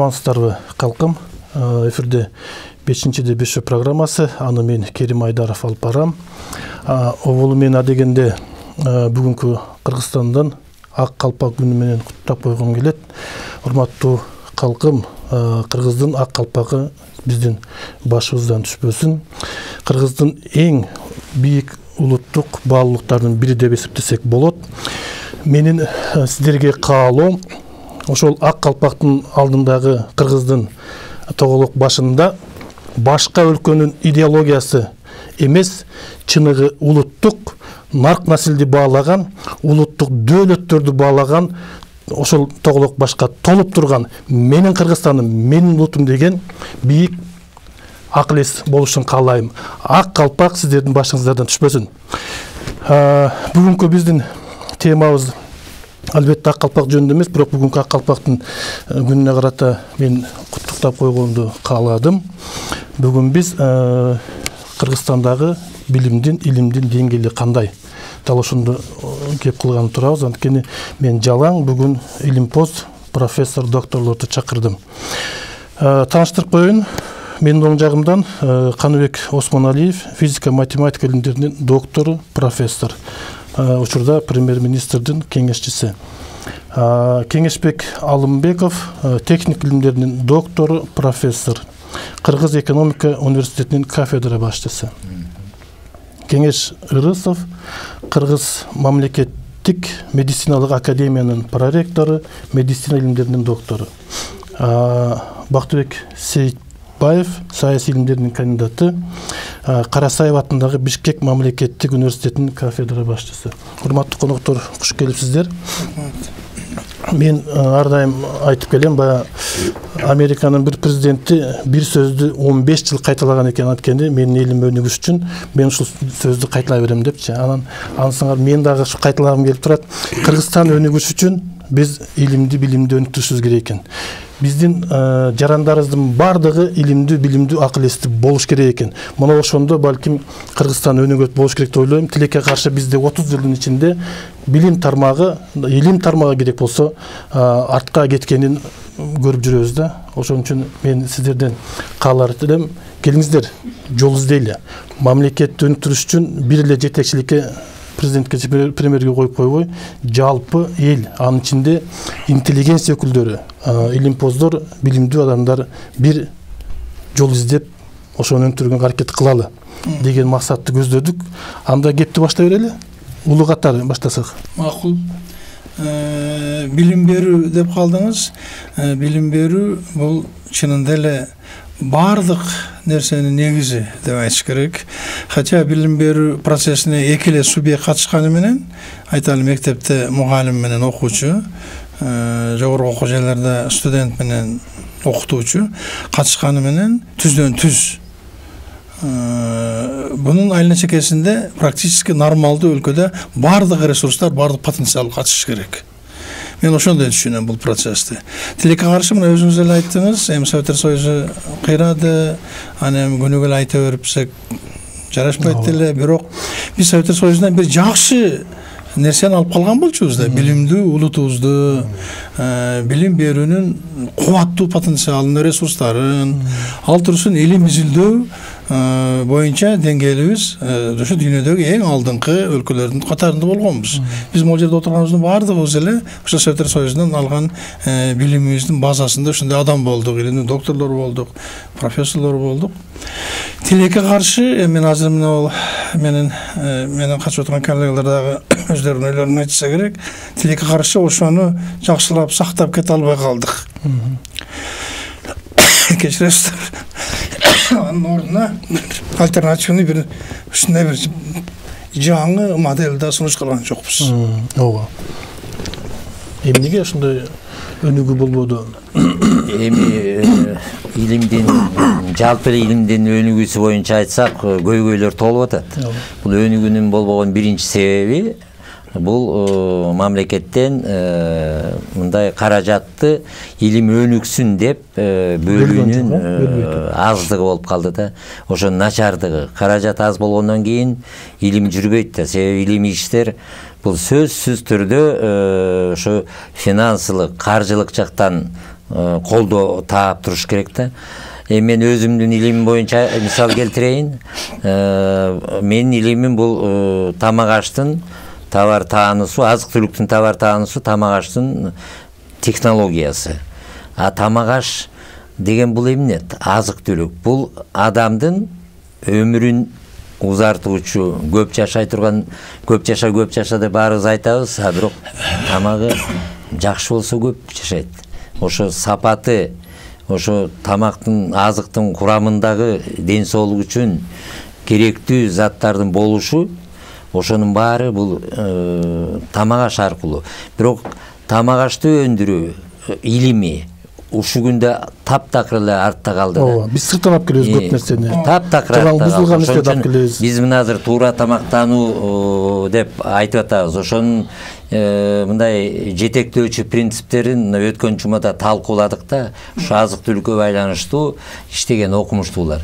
Амансыздарбы калкым. Эфирде 5-де 5 программасы. Аны мен Керим Айдаров алып барам. Оболу мен адегенде бүгүнкү Кыргызстандан ак калпак күнү менен куттап койгум келет. Урматтуу калкым, Кыргыздын ак калпагы биздин башыбыздан түшпөсүн. Кыргыздын эң бийик улуттук баалуулуктардын бири деп эсептесек болот. Менин сиздерге каалоом ошол ак калпактын алдындагы Кыргыздын тоголок башында башка өлкөнүн идеологиясы эмес, чыныгы улуттук нарк насилди баалаган, улуттук дөөлөттөрдү баалаган ошол тоголок башка толуп турган менин Кыргызстаным, менин улутум деген бийик ак элес болушун каалайм. Ак калпак сиздердин башыңыздардан түшпөсүн. Бүгүнкү биздин темабыз албетте ак калпак жөнүндө эмес, бирок бүгүнкү ак калпактын күнүнө карата мен куттуктап койгонду кааладым. Бүгүн биз Кыргызстандагы билимдин, илимдин деңгээли кандай? Дал ошондо кеп кылганы турабыз. Анткени мен жалаң бүгүн илимпоз профессор, докторлорду чакырдым. Тааныштырып коеюн. Менин оң жагымдан Каныбек Осмоналиев, физика, математика илимдеринин доктору, профессор. Учурда премьер-министрдин кеңешчиси. Кеңешбек Алымбеков, техник илимдеринин доктору, профессор. Кыргыз экономика университетинин кафедра башчысы. Кеңеш Ырысов, Кыргыз мамлекеттик медициналык академиянын проректору, медицина илимдеринин доктору. Бактыбек Сейитбаев, саясий илимдеринин кандидаты, Карасаев атындагы Бишкек мамлекеттик университетинин кафедра башчысы. Урматтуу коноктор, куш келипсиздер. Мен ар дайым айтып келем, баягы Американын бир президенти бир сөздү 15 жыл кайталаган экен. Анткени менин элим өнүгүш үчүн мен ушул сөздү кайталай берем депчи. Ансыңар мен дагы ушу кайталагым келип турат. Кыргызстан өнүгүш үчүн биз илимди, билимди өнүктүрүшүбүз керек экен. Биздин жарандарыбыздын бардыгы илимдүү, билимдүү, ак элестүү болуш керек экен. Мына ошондо балким Кыргызстан өнүгөт болуш керек деп ойлойм. Тилекке каршы бизде 30 жылдын ичинде билим тармагы, илим тармагы керек болсо артка кеткенин көрүп жүрөбүз да. Ошон үчүн мен сиздерден каалар элем, келиңиздер, жол издейли. Мамлекетти өнүктүрүш үчүн бир эле жетекчиликке, президентке, премьерге коюп койбой, жалпы эл, анын ичинде интеллигенция өкүлдөрү, илимпоздор, билимдүү адамдар бир жол издеп, ошону өнүктүрүүгө аракет кылалы деген максатты көздөдүк. Анда кепти баштай берели. Улуу катар баштасак. Макул. Билим берүү деп калдыңыз. Билим берүү бул чынында эле бардык нерсенин негизи деп айтыш керек. Хотя билим берүү процессине эки эле субъект катышканы менен, айталы мектепте мугалим менен окуучу, жогорку окуу жайларда студент менен окутуучу катышканы менен түздөн түз. Бунун айылына чекесинде практически нормалдуу өлкөдө бардык ресурстар, бардык потенциал катыш керек. Мен ошондой түшүнөм бул процессти. Тилекке каршы мына өзүңүз эле айттыңыз, эми Советтер Союзу кыйрады, аны эми күнүгө эле айта берипсек жарашпайт эле, бирок биз Советтер Союзунан бир жакшы нерсени алып калган болчубуз да, билимдүү улутубузду, билим берүүнүн кубаттуу потенциалын, ресурстарын, ал турсун илим изилдөө боюнча деңгээлибиз ошо дүйнөдөгү эң алдыңкы өлкөлөрдүн катарында болгонбуз. Биз могул жерде отурганыбыздын баардыгыбыз эле ошо Советтер Союзунан алган билимибиздин базасында ошондой адам болдук, илимдин докторлор болдук, профессорлор болдук. Тилекке каршы мен азыр менин катышып отурган коллегалар дагы өздөрүнүн ойлорун айтса керек. Тилекке каршы ошону жакшылап сактап кете албай калдык. Кечиресиздер. Анын ордуна альтернативный бир ушундай бир жаңы моделде сунуш кылган жокпуз. Ооба. Эмнеге ошондой өнүгүү болбоду? Эми илимдин, жалпы илимдин өнүгүүсү боюнча айтсак, көйгөйлөр толуп атат. Бул өнүгүүнүн болбогон биринчи себеби бул мамлекеттен мындай каражатты илим өнүксүн деп бөлүүнүн аздыгы болуп калды да. Ошонун начардыгы. Каражат аз болгондон кийин илим жүрбөйт да. Себеби илимий иштер бул сөзсүз түрдө ошо финансылык, каржылык жактан колдоо таап туруш керек да. Мен өзүмдүн илимим боюнча мисал келтирейин. Менин илимим бул тамак аштын товар таануусу, азык-түлүктүн товар таануусу, тамак аштын технологиясы. Тамак аш деген бул эмне? Азык-түлүк. Бул адамдын өмүрүн узартуучу, көп жашай турган, көп жаша деп баарыбыз айтабыз, бирок тамагы жакшы болсо көп жашайт. Ошо сапаты, ошо тамактын, азыктын курамындагы ден соолук үчүн керектүү заттардын болушу, ошонун баары бул тамак аш аркылуу. Бирок тамак ашты өндүрүү илими ушу күндө таптакыр эле артта калды да. Биз сырттан алып келебиз көп нерсени. Таптакыр артта бузулган нерсени алып келебиз. Биз мына азыр туура тамактануу деп айтып атабыз. Ошонун мындай жетектөөчү принциптерин өткөн жумада талкууладык да. Ушу азык-түлүккө байланыштуу иштеген окумуштуулар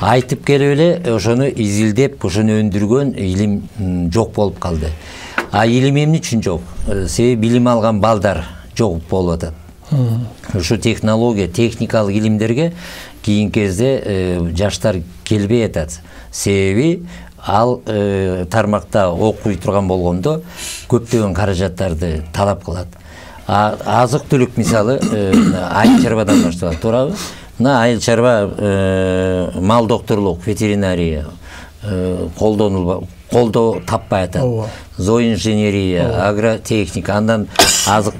айтып келип эле ошону изилдеп, ошону өндүргөн илим жок болуп калды. Илим эмне үчүн жок? Себеби билим алган балдар жок болуп атат. Ушу технология, техникалык илимдерге кийинки кезде жаштар келбей атат. Себеби ал тармакта окуй турган болгондо көптөгөн каражаттарды талап кылат. Азык-түлүк мисалы айыл чарбадан башталат, туурабы? Мына айыл чарба мал докторлук, ветеринария колдоо таппай атат. Зооинженерия, агротехника, андан азык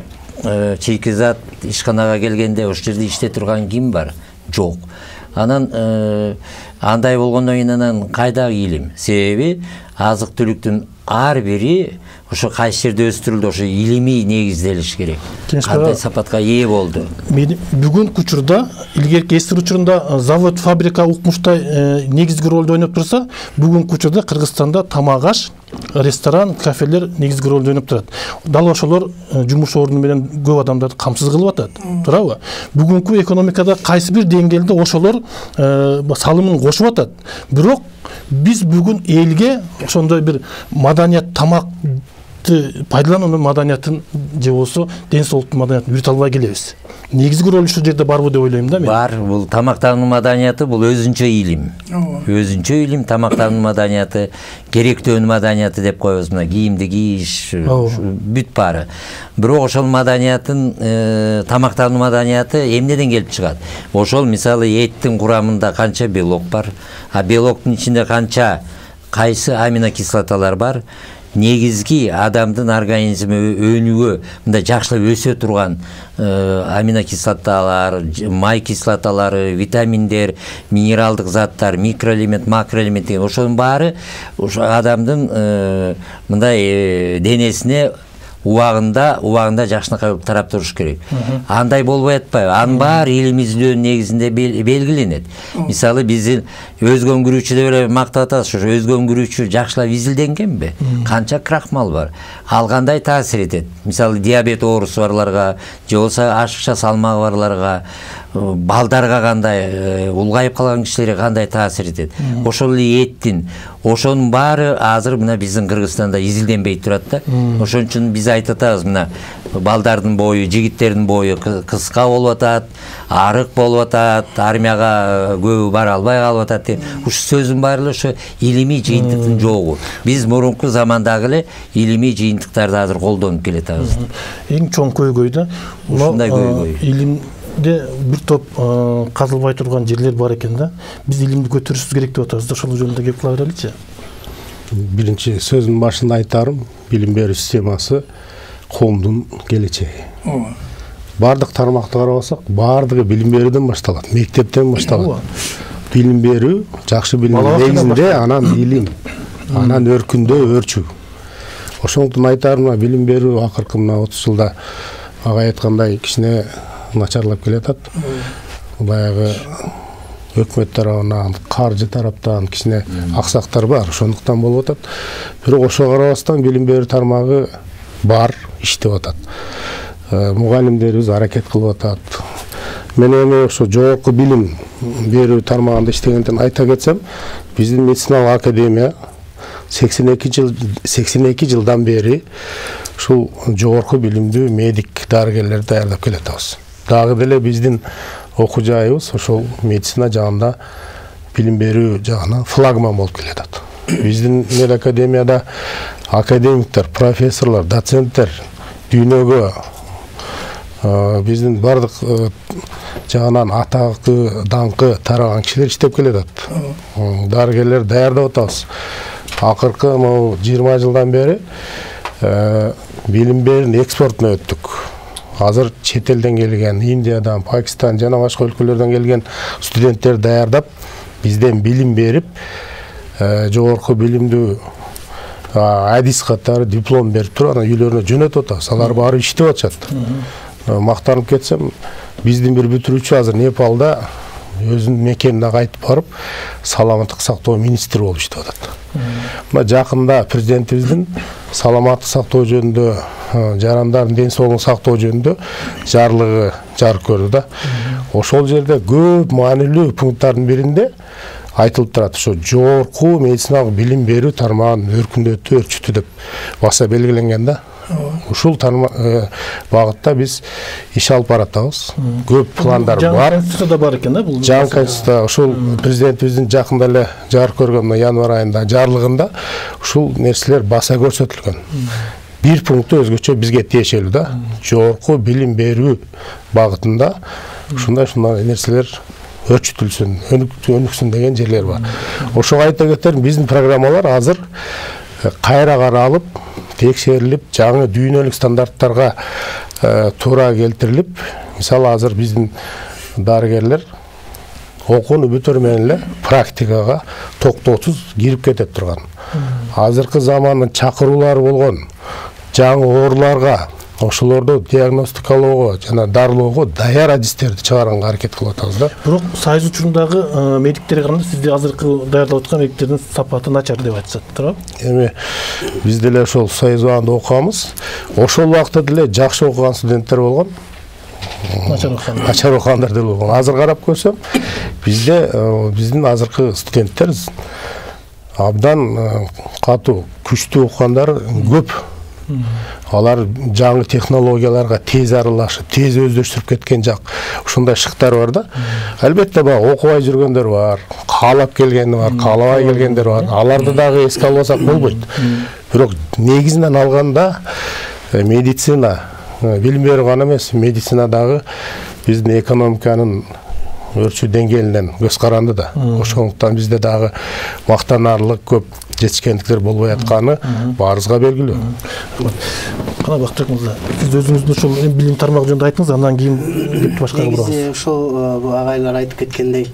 чийкизат ишканага келгенде ошол жерде иштей турган ким бар? Жок. Анан андай болгондон кийин анан кайдагы илим? Себеби азык-түлүктүн ар бири ошо кайсы жерде өстүрүлдү, ошо илимий негизделиш керек. Кандай сапатка ээ болду? Бүгүнкү учурда, илгерки эстир учурунда завод, фабрика укмуштай негизги ролду ойноп турса, бүгүнкү учурда Кыргызстанда тамак аш, ресторан, кафелер негизги ролду ойноп турат. Дал ошолор жумуш орду менен көп адамдарды камсыз кылып атат, туурабы? Бүгүнкү экономикада кайсы бир деңгээлде ошолор салымын кошуп атат. Бирок биз бүгүн элге ошондой бир маданият, тамакты пайдалануу маданиятын же болсо ден соолуктун маданиятын үйрөтө албай келебиз. Негизги роль ушул жерде барбы деп ойлойм да мен. Бар, бул тамактануу маданияты бул өзүнчө илим. Өзүнчө илим, тамактануу маданияты, керектөөнү маданияты деп коебуз. Мына кийимди кийиш, бүт баары. Бирок ошол маданиятын, тамактануу маданияты эмнеден келип чыгат? Ошол мисалы эттин курамында канча белок бар, белоктун ичинде канча кайсы аминокислоталар бар? Негизги адамдын организми өнүгүү, мындай жакшылап өсө турган аминокислоталар, май кислоталары, витаминдер, минералдык заттар, микроэлемент, макроэлемент деген ошонун баары ошо адамдын мындай денесине убагында жакшынакай болуп тарап туруш керек. Андай болбой атпайбы? Анын баары илим изилдөөнүн негизинде белгиленет. Мисалы биздин өзгөңгүрүүчү деп эле мактап атабыз, ошо өзгөңгүрүүчү жакшылап изилденгенби? Канча крахмал бар? Ал кандай таасир этет? Мисалы диабет оорусу барларга, же болсо ашыкча салмагы барларга, балдарга кандай, улгайып калган кишилерге кандай таасир этет? Ошол эле эттин, ошонун баары азыр мына биздин Кыргызстанда изилденбей турат да. Ошон үчүн биз айтып атабыз, мына балдардын бою, жигиттердин бою кыска болуп атат, арык болуп атат, армияга көбү бара албай калып атат деп. Ушу сөздүн баары эле ошо илимий жыйынтыктын жогу. Биз мурунку замандагы эле илимий жыйынтыктарды азыр колдонуп келатабыз. Эң чоң көйгөй да. Ушундай көйгөй. Илимде бир топ казылбай турган жерлер бар экен да. Биз илимди көтөрүшүбүз керек деп атабыз да. Ошол жөнүндө кеп кыла береличи. Биринчи сөзүн башында айтарым, билим берүү системасы коомдун келечеги. Бардык тармакты карабасак, бардыгы билим берүүдөн башталат, мектептен башталат. Билим берүү, жакшы билим негизинде, анан илим, анан өркүндөө өрчүү. Ошондуктан айтарым, билим берүү акыркы мына 30 жылда ага айткандай кичине начарлап келатат. Баягы өкмөт тарабынан, каржы тараптан кичине аксактар бар, ошондуктан болуп атат. Бирок ошого карабастан билим берүү тармагы бар, иштеп атат. Мугалимдерибиз аракет кылып атат. Мен эми ошо жогорку билим берүү тармагында иштегенден айта кетсем, биздин медициналык академия 82 жылдан бери ушул жогорку билимдүү медик дарыгерлерди даярдап келатабыз. дагы деле биздин окуу жайыбыз ошол медицина жагында билим берүү жагынан флагман болуп келатат. Биздин медакадемияда академиктер, профессорлор, доценттер дүйнөгө биздин бардык жагынан атакы, даңкы тараган кишилер иштеп келатат. Дарыгерлер даярдап атабыз. Акыркы 20 жылдан бери билим берүүнүн экспортуна өттүк. Азыр чет элден келген, Индиядан, Пакистан жана башка өлкөлөрдөн келген студенттер даярдап, бизден билим берип, жогорку билимдүү адис катары диплом берип туруп, анан үйлөрүнө жөнөтүп атабыз. Алар баары иштеп атышат. Мактанып кетсем, биздин бир бүтүрүүчү азыр Непалда өзүнүн мекенине кайтып барып, саламаттык сактоо министри болуп иштеп атат. Мына жакында президентибиздин саламаттык сактоо жөнүндө, жарандардын ден соолугун сактоо жөнүндө жарлыгы жарык көрдү да. Ошол жерде көп маанилүү пункттардын биринде айтылып турат, ошо жогорку медициналык билим берүү тармагын өркүндөтүү деп баса белгиленген да. Ушул багытта биз иш алып баратабыз. Көп пландар бар. Конституцияда бар экен да бул. Жаңы конституция ушул президентибиздин жакында эле жарык көргөн январь айында жарлыгында ушул нерселер баса көрсөтүлгөн. Бир пункту өзгөчө бизге тиешелүү да. Жогорку билим берүү багытында ушундай нерселер өрчүтүлсүн, өнүксүн деген жерлер бар. Ошого айта кетерим, биздин программалар азыр кайра каралып, текшерилип, жаңы дүйнөлүк стандарттарга туура келтирилип, мисалы азыр биздин дарыгерлер окууну бүтөр менен эле практикага токтоосуз кирип кетип турган. Азыркы замандын чакыруулары болгон жаңы ооруларга, ошолорду диагностикалоого жана дарылоого даяр адистерди чыгарганга аракет кылып атабыз да. Бирок сайыз учурундагы медиктерге караганда сизде азыркы даярдап аткан медиктердин сапаты начар деп айтышат, туура? Эми биз деле ошол союз убагында окуганбыз. Ошол убакта деле жакшы окуган студенттер болгон. Начар окугандар деле болгон. Азыр карап көрсөм, бизде биздин азыркы студенттер абдан катуу, күчтүү окугандар көп. Алар жаңы технологияларга тез аралашып, тез өздөштүрүп кеткен жак. Ушундай шыктар бар да. Албетте баягы окубай жүргөндөр бар, каалап келгендер бар, каалабай келгендер бар. Аларды дагы эске албасак болбойт. Бирок негизинен алганда медицина, билим берүү гана эмес, медицина дагы биздин экономиканын өрчүү деңгээлинен көз каранды да. Ошондуктан бизде дагы мактанарлык көп жетишкендиктер болбой атканы баарыбызга белгилүү. Кана Бактыбек мырза, сиз өзүңүздүн ушул билим тармагы жөнүндө айттыңыз, андан кийин кепти башкага бурабыз. Ошол агайлар айтып кеткендей,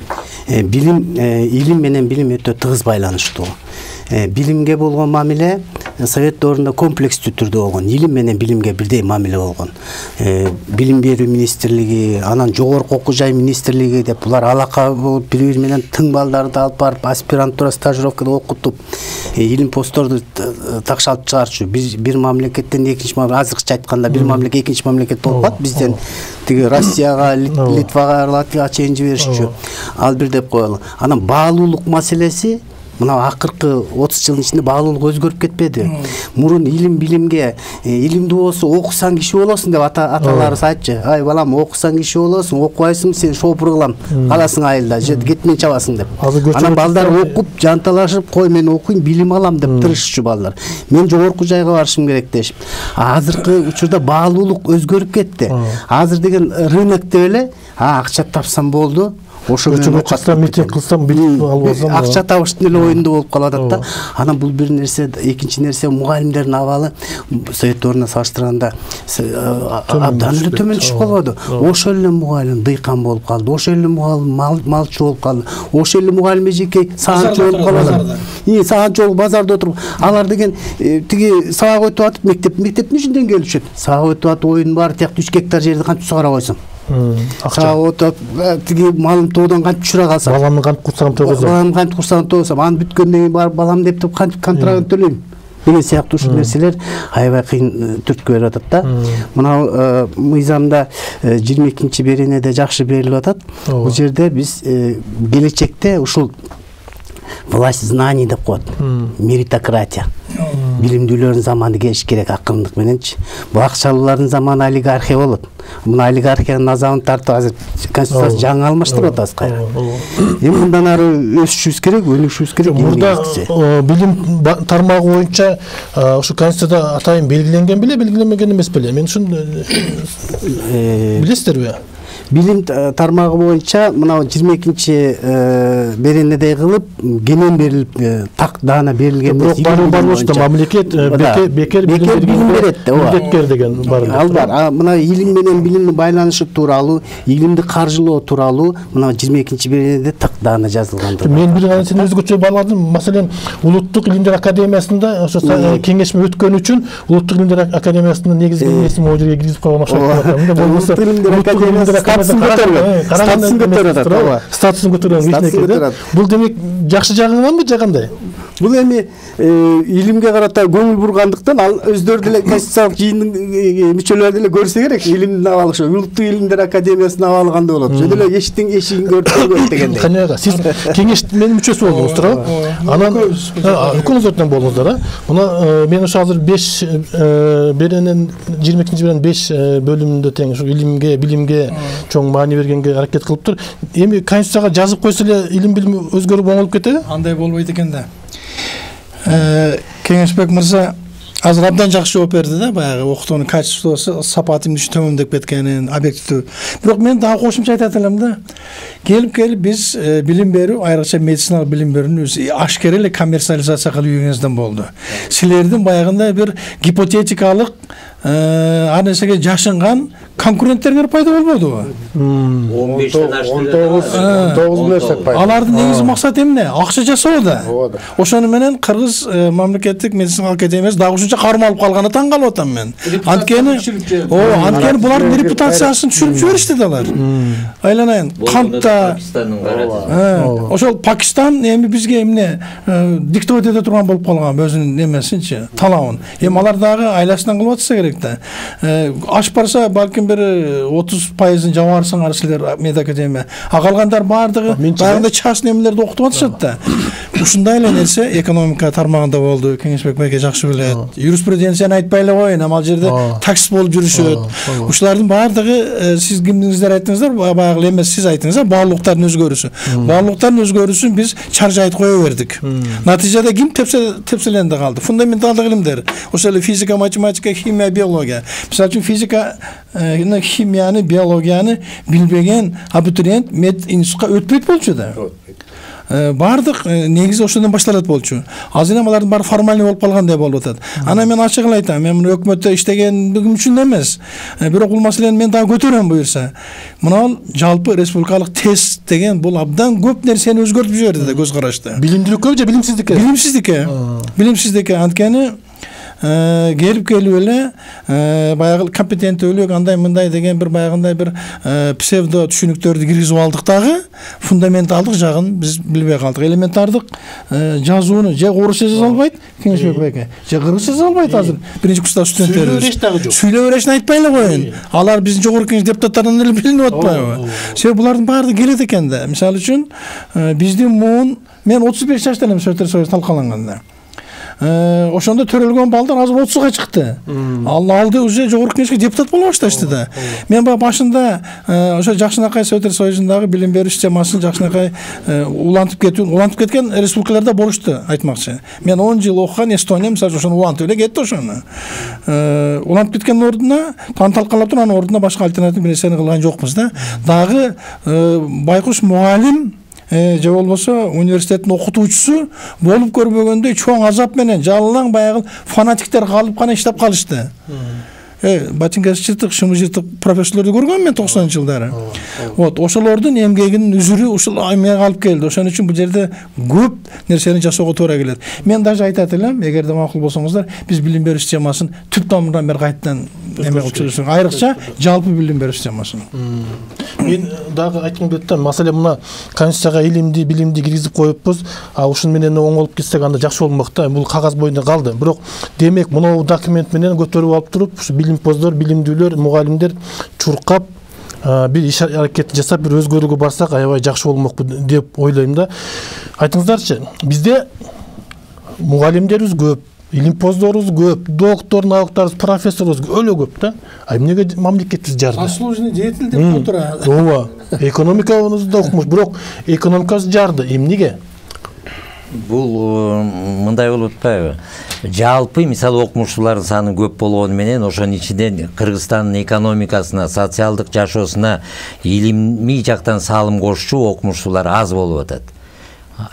илим менен билим өтө тыгыз байланыштуу. Билимге болгон мамиле Совет доорунда комплекстүү түрдө болгон. Илим менен билимге бирдей мамиле болгон. Билим берүү министрлиги, анан жогорку окуу жай министрлиги деп булар алака болуп бири-бири менен тың балдарды алып барып аспирантура стажировкада окутуп, илим постторду такшалып чыгарчу. Бир мамлекеттен экинчи мамлекетке, азыркыча айтканда бир мамлекет экинчи мамлекет болуп калат. Бизден тиги Россияга, Литвага, Латвияга чейин жиберишчү. Ал бир деп коелу. Анан баалуулук маселеси мына акыркы 30 жылдын ичинде баалуулук өзгөрүп кетпеди. Мурун илим билимге, илимдүү болсо окусаң киши болосуң деп аталарыбыз айтчу. Ай балам, окусаң киши болосуң, окубайсың сен шопур кылам, каласың айылда, же кетмен чабасың деп. Анан балдар окуп, жанталашып, кой мен окуйм, билим алам деп тырышчу балдар. Мен жогорку жайга барышым керек дешип. Азыркы учурда баалуулук өзгөрүп кетти. Азыр деген рынок деп эле, акча тапсам болду. Ошо менен окутсам, митинг кылсам, билим албасам, акча табыштын эле оюнда болуп калып атат да. Анан бул бир нерсе, экинчи нерсе мугалимдердин абалы Совет доорунда салыштырганда абдан эле төмөн түшүп калбады. Ошол эле мугалим дыйкан болуп калды, ошол эле мугалим малчы болуп калды, ошол эле мугалим эжеке саатчы болуп калды. Саатчы болуп базарда отуруп, алар деген тиги сабак өтүп атып мектептин ичинден келишет. Сабак өтүп атып оюн бар, тияк 3 гектар жерди кантип сугара койсоң? Акча отуп, тиги малым тоодон кантип түшүрө калсам, баламдын кантип курсагын тоосам, аны бүткөндөн кийин барып балам деп кантип контрагын төлөйм деген сыяктуу ушул нерселер аябай кыйын түрткү берип атат да. Мына мыйзамда 22-чи беренеде жакшы берилип атат. Бул жерде биз келечекте ушул власть знаний деп коет, меритократия. Билимдүүлөрдүн заманы келиш керек акырындык мененчи. Бул акчалуулардын заманы олигархия болот. мына олигархиянын азабын тартып азыр конституциясы жаңы алмаштырып атабыз кайра. Эми мындан ары өсүшүбүз керек, өнүгүшүбүз керек. Мурда билим тармагы боюнча ушу конституцияда атайын белгиленген беле, белгиленмеген эмес беле? Мен ушун билесиздерби? Билим тармагы боюнча мына 22-чи беренедей кылып кенен берилип так даана берилген эмес. Бирок мамлекет бекер билим берет деген бар. Ал бар. Мына илим менен билимдин байланышы тууралуу, илимди каржылоо тууралуу мына 22-чи беренеде так даана жазылган. Мен бир нерсени өзгөчө байладым. Маселен, Улуттук илимдер академиясында ошо кеңешме өткөн үчүн Улуттук илимдер академиясынын негизги несин могу жерге киргизип койгон окшойт. Болбосо статусын көтөргөн. Бул демек жакшы жагыңанбы же кандай? Бул эми илимге карата көңүл бургандыктан ал өздөрү деле конституциялык жыйындын мүчөлөрү деле көрсө керек илимдин абалы ошо Улуттук илимдер академиясынын абалы кандай болот. Ошо деле эшиктин эшигин көрүп дегендей. Канага сиз кеңештин мүчөсү болдуңуз, туурабы? Анан экөөңүз болдуңуздар, а? Мына мен ошо азыр 5 беренен 22-чи беренен 5 бөлүмүндө тең ушу илимге, билимге чоң маани бергенге аракет кылыптыр. Эми конституцияга жазып койсо эле илим билим өзгөрүп оңолуп кетеби? Андай болбойт экен да. Кеңешбек мырза азыр абдан жакшы жооп берди да, баягы окутуунун качествосу, сапаты төмөндөп кеткенин, объективдүү. Бирок мен дагы кошумча айтат элем да. Келип биз билим берүү, айрыкча медициналык билим берүүнү ашкера эле коммерциализация кылып жүргөнүңүздөн болду. Силердин баягындай бир гипотетикалык ар нерсеге жашынган конкуренттерге пайда болбодубу? 19 нерсе пайда. Алардын негизги максаты эмне? Акча жасоо да. Ошону менен Кыргыз мамлекеттик медицина академиясы дагы ушунча кармалып алып калганына таң калып атам мен. Анткени булардын репутациясын түшүрүп жиберишти да алар. Айланайын, кантта ошол Пакистан эми бизге эмне диктовать эте турган болуп калган өзүнүн немесинчи, талабын. Эми алар дагы айласынан кылып атса керек да. Ашып барса балким бир 30% жабарсыңар силер медакадемия. Калгандар баардыгы баягындай частный эмелерди окутуп атышат да. Ушундай эле нерсе экономика тармагында болду. Кеңешбек байке жакшы билет. Юриспруденцияны айтпай эле коеюн, ал жерде таксист болуп жүрүшөт. Ушулардын баардыгы сиз кимдиңиздер айттыңыздар, баягы эмес сиз айттыңыздар, баалуулуктардын өзгөрүүсү. Баалуулуктардын өзгөрүүсүн биз чаржы айтып кое бердик. Натыйжада ким тепселенде калды? Фундаменталдык илимдер. Ошол эле физика, математика, химия, биология. Мисалы үчүн физика, химияны, биологияны билбеген абитуриент мединститутка өтпөйт болчу да. Бардык негизи ошондон башталат болчу. Азыр эми алардын баары формальный болуп калгандай болуп атат. Анан мен ачыгын айтам, мен муну өкмөттө иштегендигим үчүн эмес. Бирок бул маселени мен дагы көтөрөм буюрса. Мына жалпы республикалык тест деген бул абдан көп нерсени өзгөртүп жиберди да көз карашты. Билимдүүлүккө же билимсиздикке? Билимсиздикке. Билимсиздикке. Анткени келип эле баягы компетенттүүлүк андай мындай деген бир баягындай бир псевдо түшүнүктөрдү киргизип алдык дагы фундаменталдык жагын биз билбей калдык. Элементардык жазууну же орусча жаза албайт Кеңешбек байке, же кыргызча жаза албайт азыр биринчи курста студенттерибиз. Сүйлөп беришин айтпай эле коеюн. Алар биздин жогорку кеңеш депутаттарынан эле билинип атпайбы? Себеби булардын баардыгы келет экен да. Мисалы үчүн биздин муун мен 35 жашта элем Советтер Союзу талкаланганда. Ошондо төрөлгөн балдар азыр 30га чыкты. Алды уже жогорку кеңешке депутат боло башташты да. Мен баягы башында ошо Жакшынакай Советтер Союзундагы билим берүү системасын Жакшынакай улантып кеткен республикаларда болушту айтмакчы. Мен 10 жыл окуган Эстония мисалы ошону улантып эле кетти ошону. Улантып кеткен ордуна талкалап турган ордуна башка альтернатив нерсени кылган жокпуз да. Дагы байкуш мугалим же болбосо университеттин окутуучусу болуп көрбөгөндөй чоң азап менен жалаң баягы фанатиктер калып гана иштеп калышты. Ботинкасы жыртык, шымы жыртык профессорлорду көргөм мен 90-жылдары. Вот, ошолордун эмгегинин үзүрү ушул эмеге алып келди. Ошон үчүн бул жерде көп нерсени жасоого туура келет. Мен даже айтат элем, эгерде макул болсоңуздар, биз билим берүү системасын түп тамырынан бери кайтадан эме кылып чыгышыбыз, айрыкча жалпы билим берүү системасын. Мен дагы айткым келет да, маселен мына конституцияга илимди, билимди киргизип коюппуз, ушун менен оңолуп кетсек анда жакшы болмок да. Бул кагаз боюнда калды. Бирок демек мына документ менен көтөрүп алып туруп, ушу билимпоздор, билимдүүлөр, мугалимдер чуркап бир иш аракет жасап бир өзгөрүүгө барсак аябай жакшы болмокпу деп ойлойм да. Айтыңыздарчы, бизде мугалимдерибиз көп, илимпоздорубуз көп, доктор, наукдарыбыз, профессорубуз өлө көп да. А эмнеге мамлекетибиз жарды? Заслуженный деятель деп турат. Ооба. Экономикабызда окумуш, бирок экономикасы жарды. Эмнеге? Бул мындай болуп атпайбы? Жалпы мисалы окумуштуулардын саны көп болгону менен ошонун ичинен Кыргызстандын экономикасына, социалдык жашоосуна илимий жактан салым кошчу окумуштуулар аз болуп атат.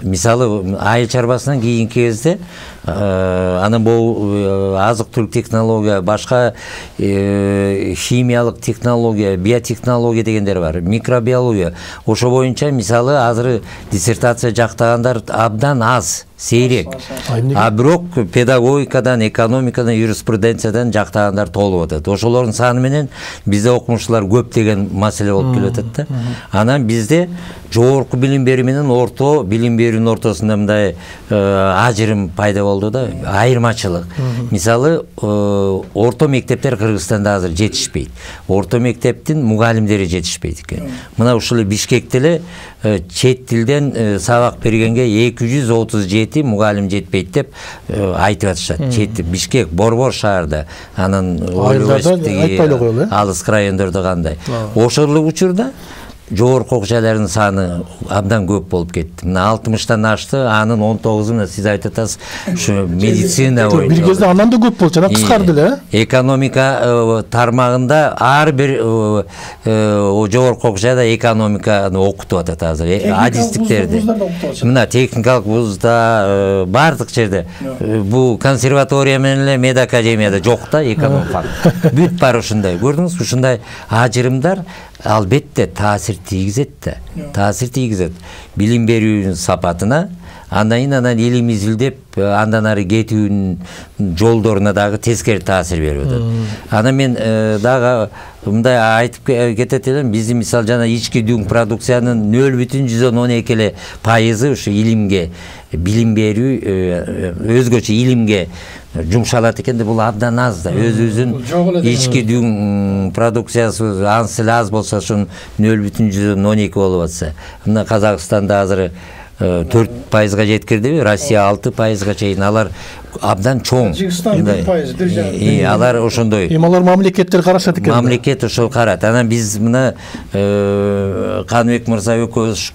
Мисалы айыл чарбасынан кийинки кезде анан бул азык-түлүк технология, башка химиялык технология, биотехнология дегендер бар, микробиология. Ошо боюнча мисалы азыр диссертация жактагандар абдан аз, сейрек. А бирок педагогикадан, экономикадан, юриспруденциядан жактагандар толуп атат. Ошолордун саны менен бизде окумуштуулар көп деген маселе болуп келип атат да. Анан бизде жогорку билим берүү менен орто билим берүүнүн ортосунда мындай ажырым пайда болду да, айырмачылык. Мисалы, орто мектептер Кыргызстанда азыр жетишпейт. Орто мектептин мугалимдери жетишпейт экен. Мына ушул Бишкекте эле чет тилден сабак бергенге 237 мугалим жетпейт деп айтып атышат. Чет Бишкек, Борбор шаарда, анан университеттеги алыс райондордо кандай. Ошол учурда жогорку окуу жайлардын саны абдан көп болуп кетти. Мына 60-тан ашты, анын 19-уна сиз айтып атасыз, ушу медицина боюнча. Бир кезде андан да көп болчу, анан кыскарды эле. Экономика тармагында ар бир жогорку окуу жайда экономиканы окутуп атат азыр. Адистиктерди. Мына техникалык вузда, бардык жерде. Бул консерватория менен эле медакадемияда жок да экономика. Бүт бар ушундай. Көрдүңүзбү, ушундай ажырымдар албетте таасир тийгизет да. Таасир тийгизет. Билим берүүнүн сапатына, андан илим изилдеп, андан ары кетүүнүн жолдоруна дагы тескери таасир берип атат. Анан мен дагы мындай айтып кетет элем, биздин мисал жана ички дүң продукциянын 0,12 эле пайызы ушу илимге, билим берүү, өзгөчө илимге жумшалат экен да, бул абдан аз да. Өзүбүздүн ички дүң продукциясы ансы эле аз болсо, ошонун 0,12 болуп атса. Мына Казакстанда азыр 4%-га жеткирдиби, Россия 6%-га чейин, алар абдан чоң. Тажикстан 1%, алар ошондой. Алар мамлекеттер карашат экен. Мамлекет ошол карат. Анан биз мына Каныбек мырза экөөбүз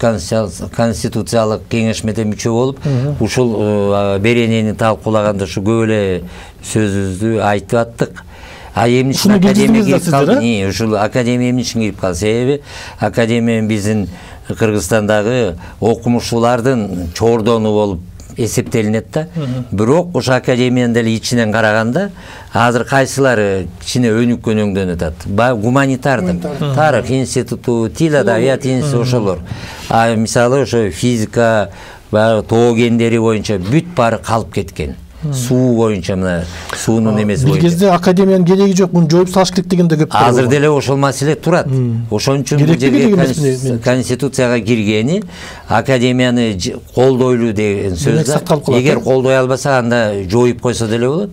конституциялык кеңешмеде мүчө болуп, ушул беренени талкуулаганда ушу көп эле сөзүбүздү айтып аттык. А эмне үчүн академия кирип калды? Ушул академия эмне үчүн кирип калды? Себеби академия биздин Кыргызстандагы окумуштуулардын чордону болуп эсептелинет да. Бирок ошо академиянын деле ичинен караганда азыр кайсылары кичине өнүккөн өңдөн атат. Гуманитардык, тарых институту, тил адабият институту ошолор. А мисалы ошо физика, тоо кендери боюнча бүт баары калып кеткен. Суу боюнча, мына суунун эмеси боюнча. Бир кезде академиянын кереги жок, муну жоюп салыш керек деген да көп. Азыр деле ошол маселе турат. Ошон үчүн бул жерге конституцияга киргени академияны колдойлуу деген сөз да. Эгер колдой албаса, анда жоюп койсо деле болот.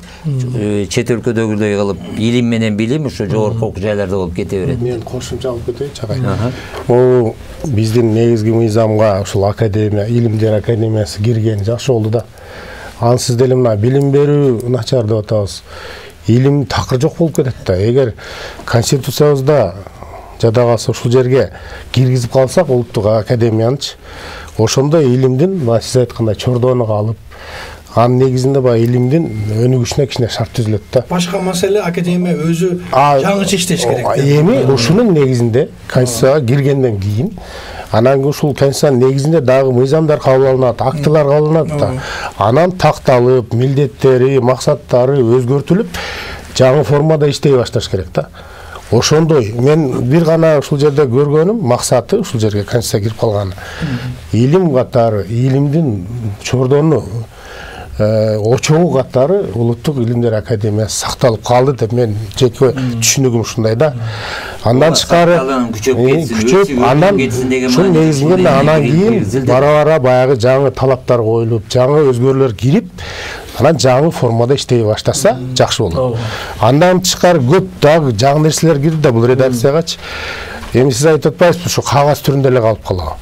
Чет өлкөдөгүдөй кылып илим менен билим ошо жогорку окуу жайларда болуп кете берет. Мен кошумча алып кетейинчи агай. Бул биздин негизги мыйзамга ушул академия, илимдер академиясы киргени жакшы болду да. Ансыз деле мына билим берүү начар деп атабыз. Илим такыр жок болуп кетет да. Эгер конституциябызда жада калса ушул жерге киргизип калсак улуттук академиянычы, ошондо илимдин, сиз айткандай чордону калып, анын негизинде баягы илимдин өнүгүшүнө кичине шарт түзүлөт да. Башка маселе академия өзү жаңыча иштеш керек. Эми ушунун негизинде конституцияга киргенден кийин анан ушул конституциянын негизинде дагы мыйзамдар кабыл алынат, актылар кабыл алынат да. Анан такталып, милдеттери, максаттары өзгөртүлүп, жаңы формада иштей башташ керек да. Ошондой мен бир гана ушул жерде көргөнүм, максаты ушул жерге конституция кирип калган. Илим катары, илимдин чордону очогу катары улуттук илимдер академиясы сакталып калды деп мен жеке түшүнүгүм ушундай да. Андан тышкары күчөп, андан ушул негизинде анан кийин бара-бара баягы жаңы талаптар коюлуп, жаңы өзгөрүүлөр кирип, анан жаңы формада иштей баштаса жакшы болот. Андан тышкары көп дагы жаңы нерселер кирди да бул редакциягачы. Эми сиз айтып атпайсызбы, ушу кагаз түрүндө эле калып калабы?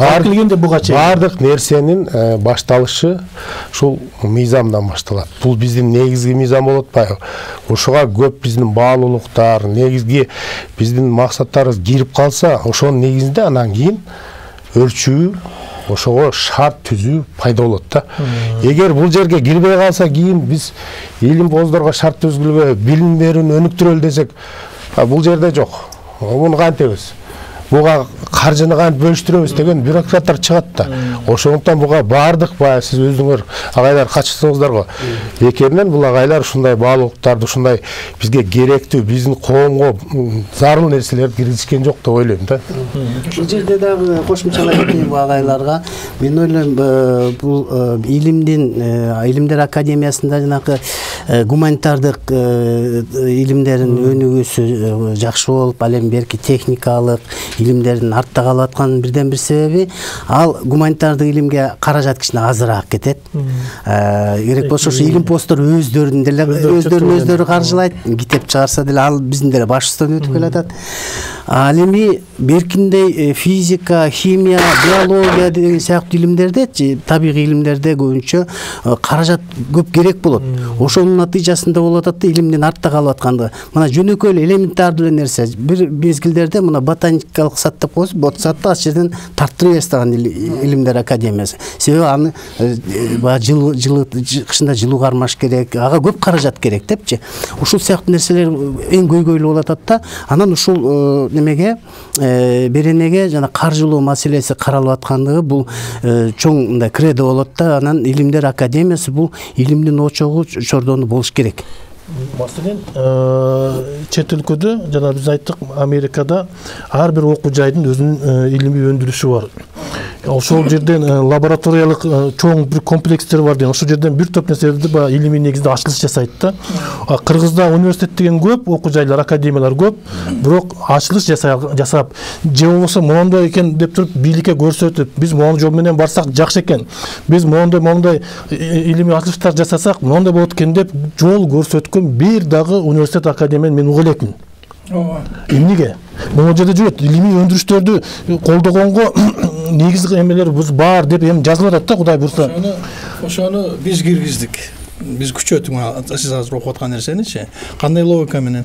келгенде буга чейин баардык нерсенин башталышы ушул мыйзамдан башталат. Бул биздин негизги мыйзам болуп атпайбы? Ошого көп биздин баалуулуктар, негизги биздин максаттарыбыз кирип калса, ошонун негизинде анан кийин өлчүү, ошого шарт түзүү пайда болот да. Эгер бул жерге кирбей калса, кийин биз илимпоздорго шарт түзгүлгө, билим берүүнү өнүктүрөлү десек, бул жерде жок. Муну кантебиз? Буга каржыны кантип бөлүштүрөбүз деген бюрократтар чыгат да. Ошондуктан буга баардык баягы сиз өзүңөр агайлар катышсаңыздарго, бекеринен бул агайлар ушундай баалуулуктарды, ушундай бизге керектүү, биздин коомго зарыл нерселерди киргизишкен жок деп ойлойм да. Бул жерде дагы кошумчалай кетейин бул агайларга. Мен ойлойм, бул илимдер академиясында жанагы гуманитардык илимдердин өнүгүүсү жакшы болуп, ал эми берки техникалык илимдердин артта калып атканын бирден бир себеби ал гуманитардык илимге каражат кичине азыраак кетет. Керек болсо ушу илимпозддор өздөрү каржылайт, китеп чыгарса деле ал биздин деле башыбыздан өтүп келатат. Ал эми беркиндей физика, химия, биология деген сыяктуу илимдерде, табигый илимдерде көбүнчө каражат көп керек болот. Ошонун натыйжасында болуп атат да илимдин артта калып аткандыгы. Мына жөнөкөй эле элементардуу нерсе, бир мезгилдерде мына ботаникалык сад деп коебуз, ботсатты ал жерден тарттырып баштаган илимдер академиясы. Себеби аны кышында жылуу кармаш керек, ага көп каражат керек депчи. Ушул сыяктуу нерселер эң көйгөйлүү болуп атат да. Анан ушул немеге беренеге жана каржылоо маселеси каралып аткандыгы бул чоң мындай кредо болот да. Анан илимдер академиясы бул илимдин очогу чордону болуш керек. Маселен, чет өлкөдө жана биз айттык, Америкада ар бир окуу жайдын өзүнүн илимий өндүрүшү бар. Ошол жерден лабораториялык чоң бир комплекстер бар деген. Ошол жерден бир топ нерселерди илимий негизде ачылыш жасайт да. Кыргызда университет деген көп, окуу жайлар, академиялар көп, бирок ачылыш жасап, же болбосо мондой экен деп туруп бийликке көрсөтүп, биз мондой жол менен барсак жакшы экен, биз мондой илимий ачылыштар жасасак мондой болот экен деп жол көрсөткөн бир дагы университет, академияны мен уга элекмин. Эмнеге? Могу жерде жүрөт, илимий өндүрүштөрдү колдогонго негизги эмелер бар деп эми жазылып атат да, Кудай буйрса. Ошону биз киргиздик. Биз күчөттүк, сиз азыр окуп аткан нерсеничи. Кандай логика менен?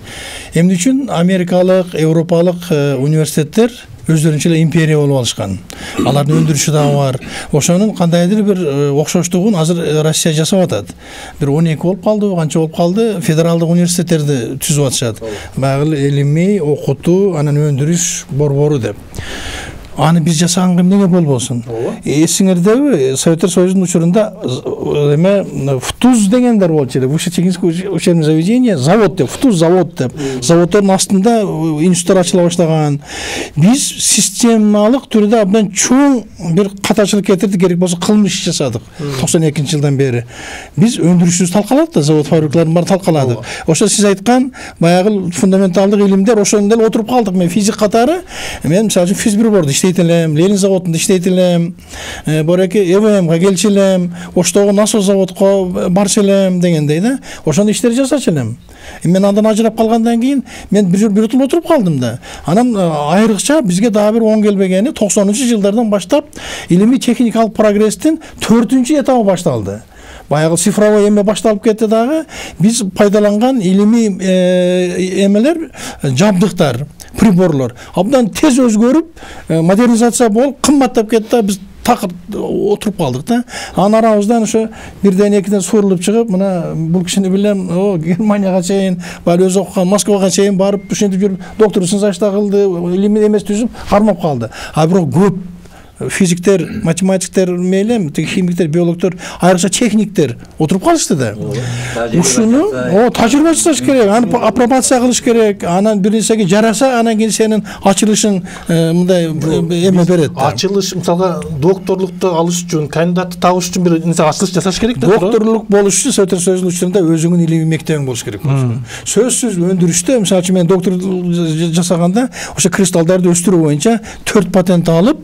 Эмне үчүн америкалык, европалык университеттер өздөрүнчө эле империя болуп алышкан. Алардын өндүрүшү дагы бар. Ошонун кандайдыр бир окшоштугун азыр Россия жасап атат. Бир 12 болуп калды, канча болуп калды, федералдык университеттерди түзүп атышат. Баягы илимий, окутуу, анан өндүрүш борбору деп. Аны биз жасаганга эмнеге болбосун? Эсиңердеби, Советтер Союзунун учурунда ФТУЗ дегендер болчу эле. Высшее учебное заведение, завод деп, ФТУЗ завод деп. Заводдордун астында институттар ачыла баштаган. Биз системалык түрдө абдан чоң бир катачылык кетирди, керек болсо кылмыш жасадык. 92-жылдан бери. Биз өндүрүшүбүз талкаладык да, завод фабрикаларын баары талкаладык. Ошо сиз айткан баягы фундаменталдык илимдер ошондо эле отуруп калдык. Мен физик катары, мен мисалы үчүн физбирбордо иштейт элем, Ленин заводунда иштейт элем, бореки ЭВМга келчү элем, Оштогу насос заводко барчу элем дегендей да. Ошондой иштер жасачу элем. Мен андан ажырап калгандан кийин мен бир жыл отуруп калдым да. Анан айрыкча бизге дагы бир оң келбегени 90-жылдардан баштап илимий техникалык прогресстин 4-этабы башталды. Баягы цифровой эме башталып кетти дагы. Биз пайдаланган илимий эмелер, жабдыктар, приборлор абдан тез өзгөрүп, модернизация болуп, кымбаттап кетти да, биз такыр отуруп калдык да. Анын арабыздан ошо бирден экиден сурулуп чыгып, мына бул кишини билем, Германияга чейин, баары өзү окуган Москвага чейин барып, ушинтип жүрүп, докторлук зачта кылды, илимий эмес түзүп, кармап калды. А бирок көп физиктер, математиктер мейлем, химиктер, биологтор, айрыкча техниктер отуруп калышты да. Ушуну тажрыйба жасаш керек, аны апробация кылыш керек, анан бир нерсеге жараса, анан кийин сенин ачылышың мындай эме берет. Ачылыш, мисалга, докторлукту алыш үчүн, кандидатты табыш үчүн бир нерсе ачылыш жасаш керек да. Докторлук болуш үчүн Советтер Союзунун учурунда өзүңүн илимий мектебиң болуш керек болчу. Сөзсүз өндүрүштө, мисалы үчүн мен доктор жасаганда, ошо кристаллдарды өстүрүү боюнча 4 патент алып,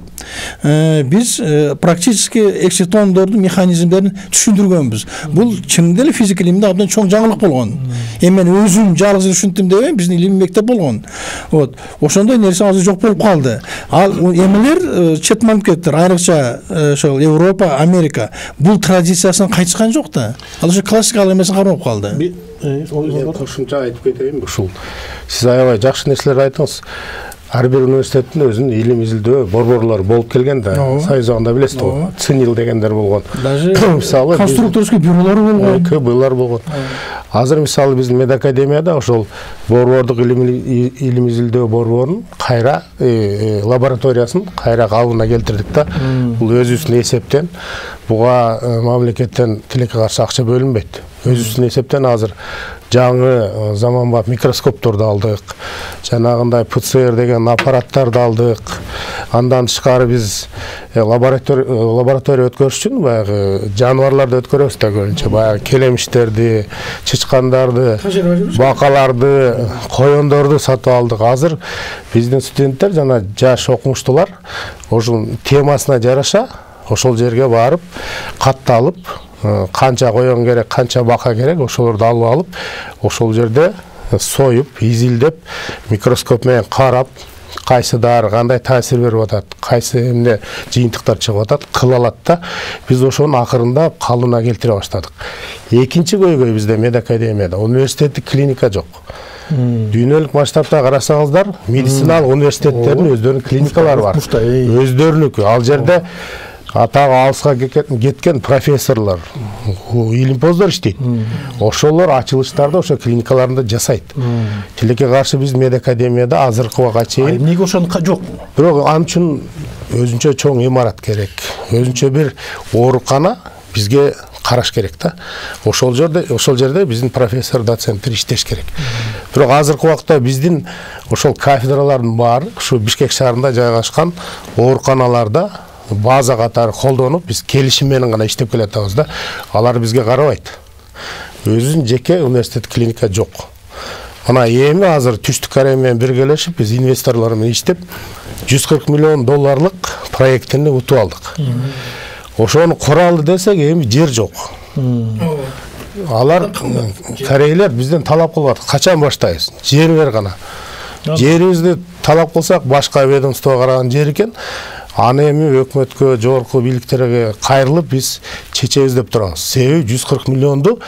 биз практически экситондордун механизмдерин түшүндүргөнбүз. Бул чын деле физика илиминде абдан чоң жаңылык болгон. Эми мен өзүм жалгыз түшүндүм дебейм, биздин илимий мектеп болгон. Вот. Ошондой нерсе азыр жок болуп калды. Ал эмелер чет мамлекеттер, айрыкча ошол Европа, Америка бул традициясын кайтышкан жок да. Ал ошо классикалык эмесин кармап калды. Кошумча айтып кетейин. Ушул сиз аябай жакшы нерселер айттыңыз. Ар бир университеттин өзүнүн илим изилдөө борборлору болуп келген да. Союз убагында билесиз го, ЦИНИЛ дегендер болгон. Даже конструкторский бюролор болгон. КБлар болгон. Азыр мисалы биздин медакадемияда ошол борбордук илим изилдөө борборунун кайра лабораториясын кайра калыбына келтирдик да. Бул өзүбүздүн эсептен буга мамлекеттен тилекке каршы акча бөлүнбөйт. Өзүбүздүн эсептен азыр жаңы заманбап микроскопторду алдык. Жанагындай ПЦР деген аппараттарды алдык. Андан тышкары биз лаборатория өткөрүш үчүн баягы жаныбарларды өткөрөбүз да көбүнчө. Баягы келемиштерди, чычкандарды, бакаларды, коёндорду сатып алдык. Азыр биздин студенттер жана жаш окумуштуулар ошол темасына жараша ошол жерге барып, катталып, канча коён керек, канча бака керек, ошолорду алып алып, ошол жерде союп, изилдеп, микроскоп менен карап, кайсы дары кандай таасир берип атат, кайсы эмне жыйынтыктар чыгып атат, кыла алат да. Биз ошонун акырында калыбына келтире баштадык. Экинчи көйгөй бизде медакадемияда университеттик клиника жок. Дүйнөлүк масштабта карасаңыздар, медициналык университеттердин өздөрүнүн клиникалары бар. Өздөрүнүкү. Ал жерде атагы алыска кеткен профессорлор, илимпоздор иштейт. Ошолор ачылыштарды ошо клиникаларында жасайт. Тилекке каршы биз медакадемияда азыркы убакка чейин эмнеге ошону жок? Бирок ал үчүн өзүнчө чоң имарат керек. Өзүнчө бир оорукана бизге караш керек да. Ошол жерде биздин профессор, доценттер иштеш керек. Бирок азыркы убакта биздин ошол кафедралардын баары ушу Бишкек шаарында жайгашкан ооруканаларда база катары колдонуп, биз келишим менен гана иштеп келатабыз да. Алар бизге карабайт. Өзүнүн жеке университет клиника жок. Мына эми азыр Түштүк Корея менен биргелешип, биз инвесторлор менен иштеп, $140 миллион проектини утуп алдык. Ошону кура алды десек, эми жер жок. Алар корейлер бизден талап кылып атат. Качан баштайбыз? Жер бер гана. Жерибизди талап кылсак, башка ведомство караган жер экен. Аны эми өкмөткө, жогорку бийликтерге кайрылып биз чечебиз деп турабыз. Себеби 140 миллионду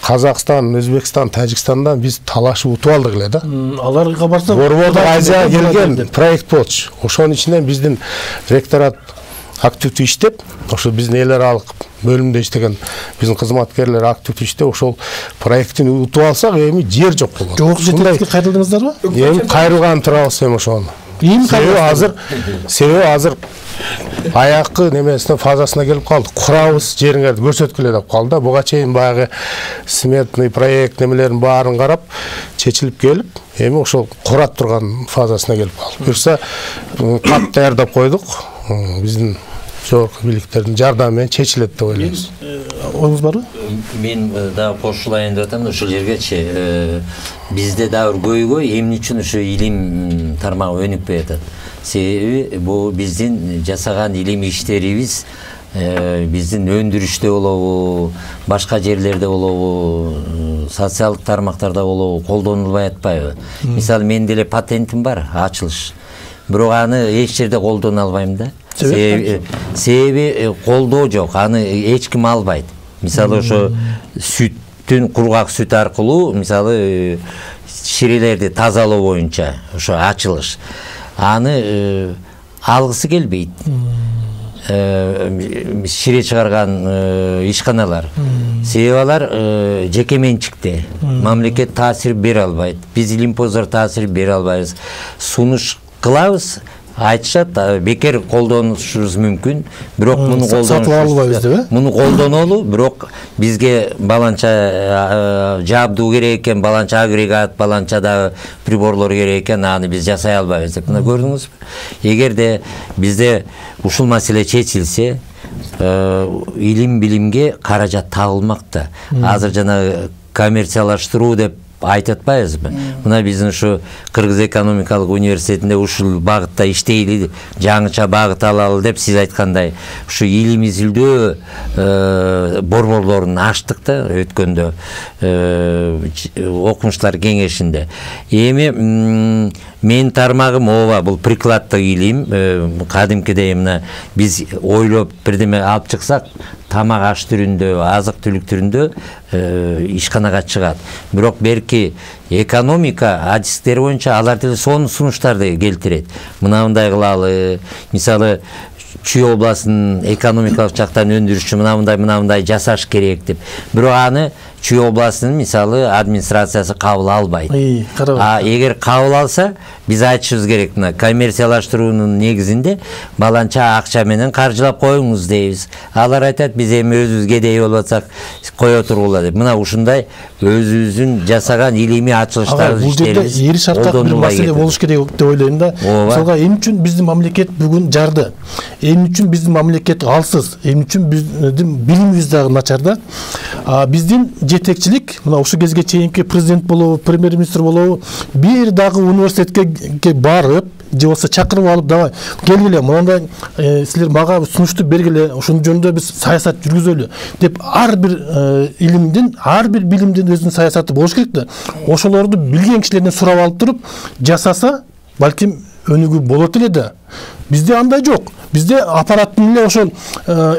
Казакстан, Өзбекстан, Тажикстандан биз талашып утуп алдык эле да. Аларга барсак, Борбордук Азияга келген проект болчу. Ошонун ичинен биздин ректорат активдүү иштеп, ошо биздин эл аралык бөлүмдө иштеген биздин кызматкерлер активдүү иштеп, ошол проекттин утуп алсак, эми жер жок болот. Жогорку жетекчиликке кайрылдыңыздарбы? Эми кайрылган турабыз эми ошону. Себеби азыр аякы немесине фазасына келип калдык. Курабыз, жериңерди көрсөткүлө деп калды. Буга чейин баягы сметный проект немелерин баарын карап, чечилип келип, эми ошол курат турган фазасына келип калды. Буюрса кат даярдап койдук. Биздин жогорку бийликтердин жардамы менен чечилет деп ойлойбуз. Оюңуз барбы? Мен дагы кошулайын деп атам, ошол жергечи бизде дагы бир көйгөй эмне үчүн ошо илим тармагы өнүкпөй атат. Себеби бул биздин жасаган илим иштерибиз биздин өндүрүштө болобу, башка жерлерде болобу, социалдык тармактарда болобу колдонулбай атпайбы? Мисалы, мен деле патентим бар, ачылыш. Бирок аны эч жерде колдоно албайм да. Себеби колдоо жок, аны эч ким албайт. Мисалы, ошо сүттүн, кургак сүт аркылуу, мисалы, ширелерди тазалоо боюнча ошо ачылыш. Аны алгысы келбейт. Шире чыгарган ишканалар. Себеби алар жеке менчикте. Мамлекет таасир бере албайт. Биз илимпоздор таасир бере албайбыз. Сунуш кылабыз, айтышат, бекер колдонушубуз мүмкүн, бирок муну колдонушубуз, муну колдонолу, бирок бизге баланча жабдуу керек экен, баланча агрегат, баланча да приборлор керек экен, аны биз жасай албайбыз деп. Мына көрдүңүзбү? Эгерде бизде ушул маселе чечилсе, илим билимге каражат табылмак да. Азыр жана коммерциялаштыруу деп айтып атпайбызбы? Мына биздин ушу Кыргыз экономикалык университетинде ушул багытта иштейли, жаңыча багыт алалы деп сиз айткандай ушу илим изилдөө борборлорун ачтык да өткөндө окумуштар кеңешинде. Эми мен тармагым ооба бул прикладдык илим, кадимкидей мына биз ойлоп бирдеме алып чыксак, тамак аш түрүндө, азык түлүк түрүндө ишканага чыгат. Бирок берки экономика адистери боюнча алар деле сонун сунуштарды келтирет. Мындай кылалы, мисалы Чүй областынын экономикалык жактан өндүрүшчү мындай жасаш керек деп. Бирок аны Чүй областынын мисалы администрациясы кабыл албайт. Эгер кабыл алса, биз айтышыбыз керек, мына коммерциялаштыруунун негизинде баланча акча менен каржылап коюңуз дейбиз. Алар айтат, биз эми өзүбүз кедей болуп атсак, кое тургула деп. Мына ушундай өзүбүздүн жасаган илимий ачылыштарды иштерибиз. Эри шарттак бир маселе болуш керек деп ойлойм да. Мисалга эмне үчүн биздин мамлекет бүгүн жарды? Эмне үчүн биздин мамлекет алсыз? Эмне үчүн биздин билимибиз дагы начар да? Биздин жетекчилик, мына ушу кезге чейинки президент болобу, премьер-министр болобу, бир дагы университетке барып, же болбосо чакырып алып, давай келгиле, мындай силер мага сунушту бергиле, ошон жөнүндө биз саясат жүргүзөлү деп ар бир илимдин, ар бир билимдин өзүнүн саясаты болуш керек да. Ошолорду билген кишилерден сурап алып туруп жасаса, балким өнүгүү болот эле да. Бизде андай жок. Бизде аппараттын эле ошол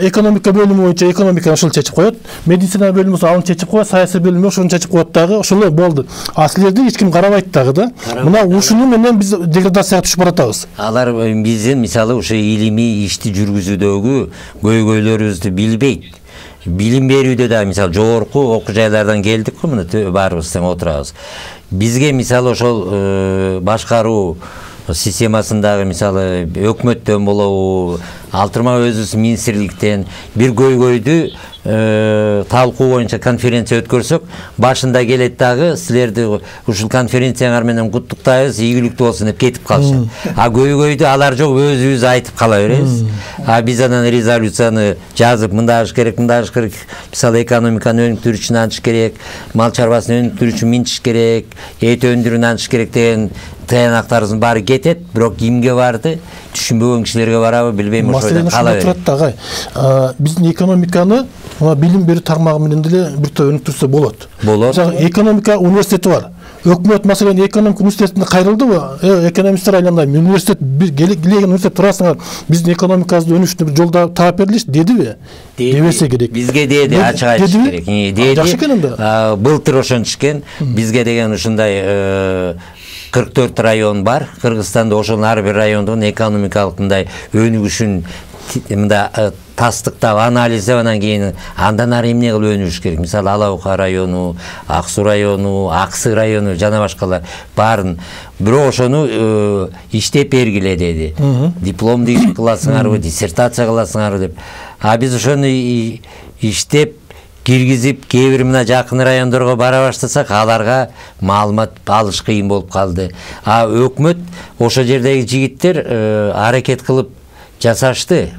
экономика бөлүмү боюнча экономиканы ошол чечип коет, медицина бөлүмү аны чечип коет, саясий бөлүмү ошону чечип коет дагы, ошол болду. А силерди эч ким карабайт дагы да. Мына ушуну менен биз деградацияга түшүп баратабыз. Алар биздин мисалы ошо илимий ишти жүргүзүүдөгү көйгөйлөрүбүздү билбейт. Билим берүүдө да мисалы жогорку окуу жайлардан келдик го, мына баарыбыз тең отурабыз. Бизге мисалы ошол башкаруу системасындагы мисалы өкмөттөн болобу, алтырма өзүбүз министрликтен бир көйгөйдү талкуу боюнча конференция өткөрсөк, башында келет дагы силерди ушул конференцияңар менен куттуктайбыз, ийгиликтүү болсун деп кетип калышат. А көйгөйдү алар жок, өзүбүз айтып кала беребиз. А биз анан резолюцияны жазып, мындай аш керек, мисалы экономиканы өнүктүрүү үчүн антыш керек, мал чарбасын өнүктүрүү үчүн минтиш керек, эт өндүрүүнү антыш керек деген таянактарыбыздын баары кетет, бирок кимге барды, түшүнбөгөн кишилерге барабы, билбейм, ошойдон кала берет. Маселе биздин экономиканы билим берүү тармагы менен деле бир топ өнүктүрсө болот. Экономика университети бар. Өкмөт маселен экономика университетине кайрылдыбы? Экономисттер айландай университет келген университет турасыңар, биздин экономикабызды өнүшүнө бир жолдо таап берилиш дедиби? Дебесе керек. Бизге деди, ачык айтыш керек. Деди. Былтыр ошентишкен, бизге деген ушундай 44 район бар. Кыргызстанда ошонун ар бир райондун экономикалык мындай өнүгүшүн мында тастыктап, анализдеп, анан кийин андан ары эмне кылып өнүгүш керек? Мисалы Ала Бука району, Ак Суу району, Аксы району жана башкалар баарын. Бирок ошону иштеп бергиле деди. Дипломду иш кыласыңарбы, диссертация кыласыңарбы деп. А биз ошону иштеп киргизип, кээ бир мына жакын райондорго бара баштасак, аларга маалымат алыш кыйын болуп калды. А өкмөт ошо жердеги жигиттер аракет кылып жасашты.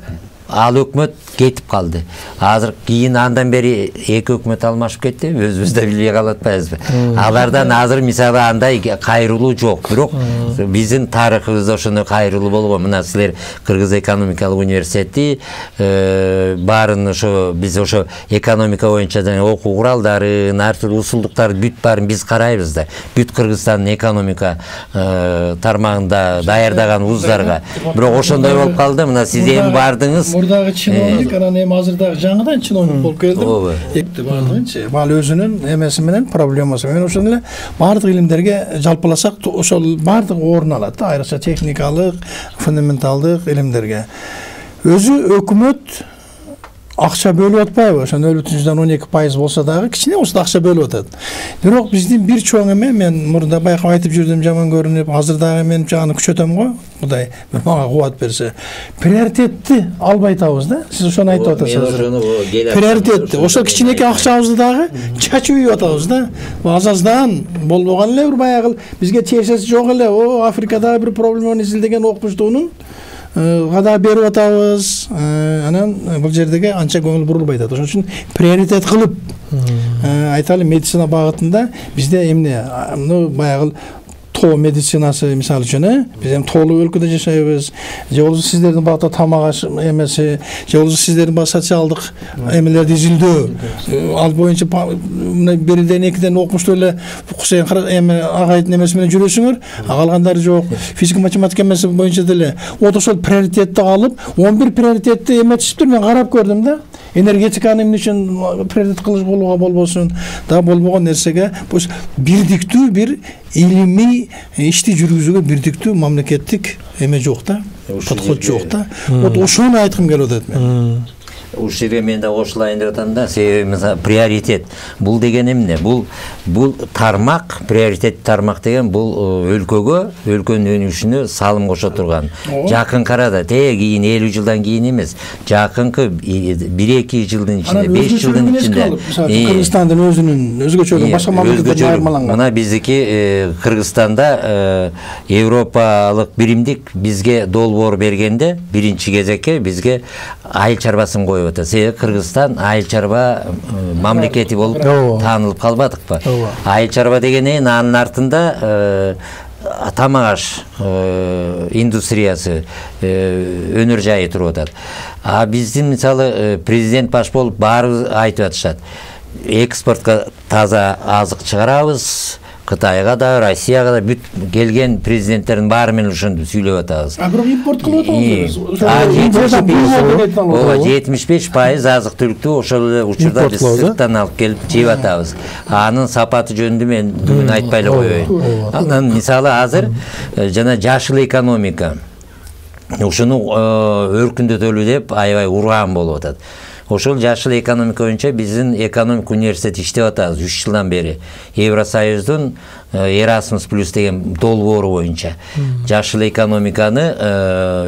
Ал өкмөт кетип калды. Азыр кийин андан бери эки өкмөт алмашып кетти, өзүбүз да билбей калып атпайбызбы? Алардан азыр мисалы андай кайрылуу жок, бирок биздин тарыхыбызда ошондой кайрылуу болгон. Мына силер Кыргыз экономикалык университети баарын ошо биз ошо экономика боюнча окуу куралдарын, ар түрдүү усулдуктарды бүт баарын биз карайбыз да. Бүт Кыргызстандын экономика тармагында даярдаган вуздарга. Бирок ошондой болуп калды. Мына сиз эми бардыңыз. Мурдагы чиновник анан эми азырдагы жаңыдан чиновник болуп келдим. Экти бардыгынчы. Ал өзүнүн эмеси менен проблемасы менен ошон эле баардык илимдерге жалпыласак ошол баардык орун алат да, айрыкча техникалык, фундаменталдык илимдерге. Өзү өкмөт акча бөлүп атпайбы? Ошо 0,12% болсо дагы кичине болсо да акча бөлүп атат. Бирок биздин бир чоң эме, мен мурда байкап айтып жүрдүм, жаман көрүнүп, азыр дагы мен аны күчөтөм го. Кудай бир мага кубат берсе. Приоритетти албай атабыз да. Сиз ошону айтып атасыз. Приоритетти. Ошо кичинекей акчабызды дагы чачып үйүп атабыз да. Азаздан болбогон эле бир баягы бизге тиешеси жок эле. Африкадагы бир проблеманы изилдеген окумуштуунун када берип атабыз. Анан бул жердеги анча көңүл бурулбай атат. Ошон үчүн приоритет кылып айталы медицина багытында бизде эмне баягы тоо медицинасы мисалы үчүн биз эми тоолуу өлкөдө жашайбыз. Же болбосо сиздердин багытта тамак аш эмеси, же болбосо сиздердин багы социалдык эмелерди изилдөө, ал боюнча бирден экиден окумуштуу эле Кусейин эме агайдын эмеси менен жүрөсүңөр, калгандары жок. Физика математика эмеси боюнча деле вот ошол приоритетти алып, 11 приоритетти эметишиптир. Мен карап көрдүм да. Энергетиканы эмне үчүн приоритет кылыш болууга болбосун, да болбогон нерсеге бирдиктүү бир илимий ишти жүргүзүүгө бирдиктүү мамлекеттик эме жок да, подход жок да. Вот ошону айткым келип атат мен. Ушул жерге мен да кошулайын деп атам да. Себеби приоритет бул деген эмне? Бул тармак, приоритет тармак деген бул өлкөгө, өлкөнүн өнүгүшүнө салым кошо турган. Жакынкы арада кийин 50 жылдан кийин эмес, жакынкы 1-2 жылдын ичинде, 5 жылдын ичинде Кыргызстандын өзүнүн өзгөчөлүгү башка мамлекеттерден айырмаланган. Мына биздики Кыргызстанда Европалык биримдик бизге долбоор бергенде биринчи кезекке бизге айыл чарбасын коюп атат. Себеби Кыргызстан айыл чарба мамлекети болуп таанылып калбадыкпы? Айыл чарба дегенен анын артында тамак аш индустриясы өнөр жайы туруп атат. А биздин мисалы президент баш болуп баары айтып атышат. Экспортко таза азык чыгарабыз. Кытайга да, Россияга да бүт келген президенттердин баары менен ошону сүйлөп атабыз. Бирок импорт кылып атабыз. 75% азык-түлүктү ошол эле учурда биз сырттан алып келип жеп атабыз. Анын сапаты жөнүндө мен бүгүн айтпай эле коеюн. Анан мисалы азыр жана жашыл экономика ушуну өркүндөтөлү деп аябай урган болуп атат. Ошол жашыл экономика боюнча биздин экономика университети иштеп атабыз 3 жылдан бери. Евросоюздун Erasmus Plus деген долбоору боюнча жашыл экономиканы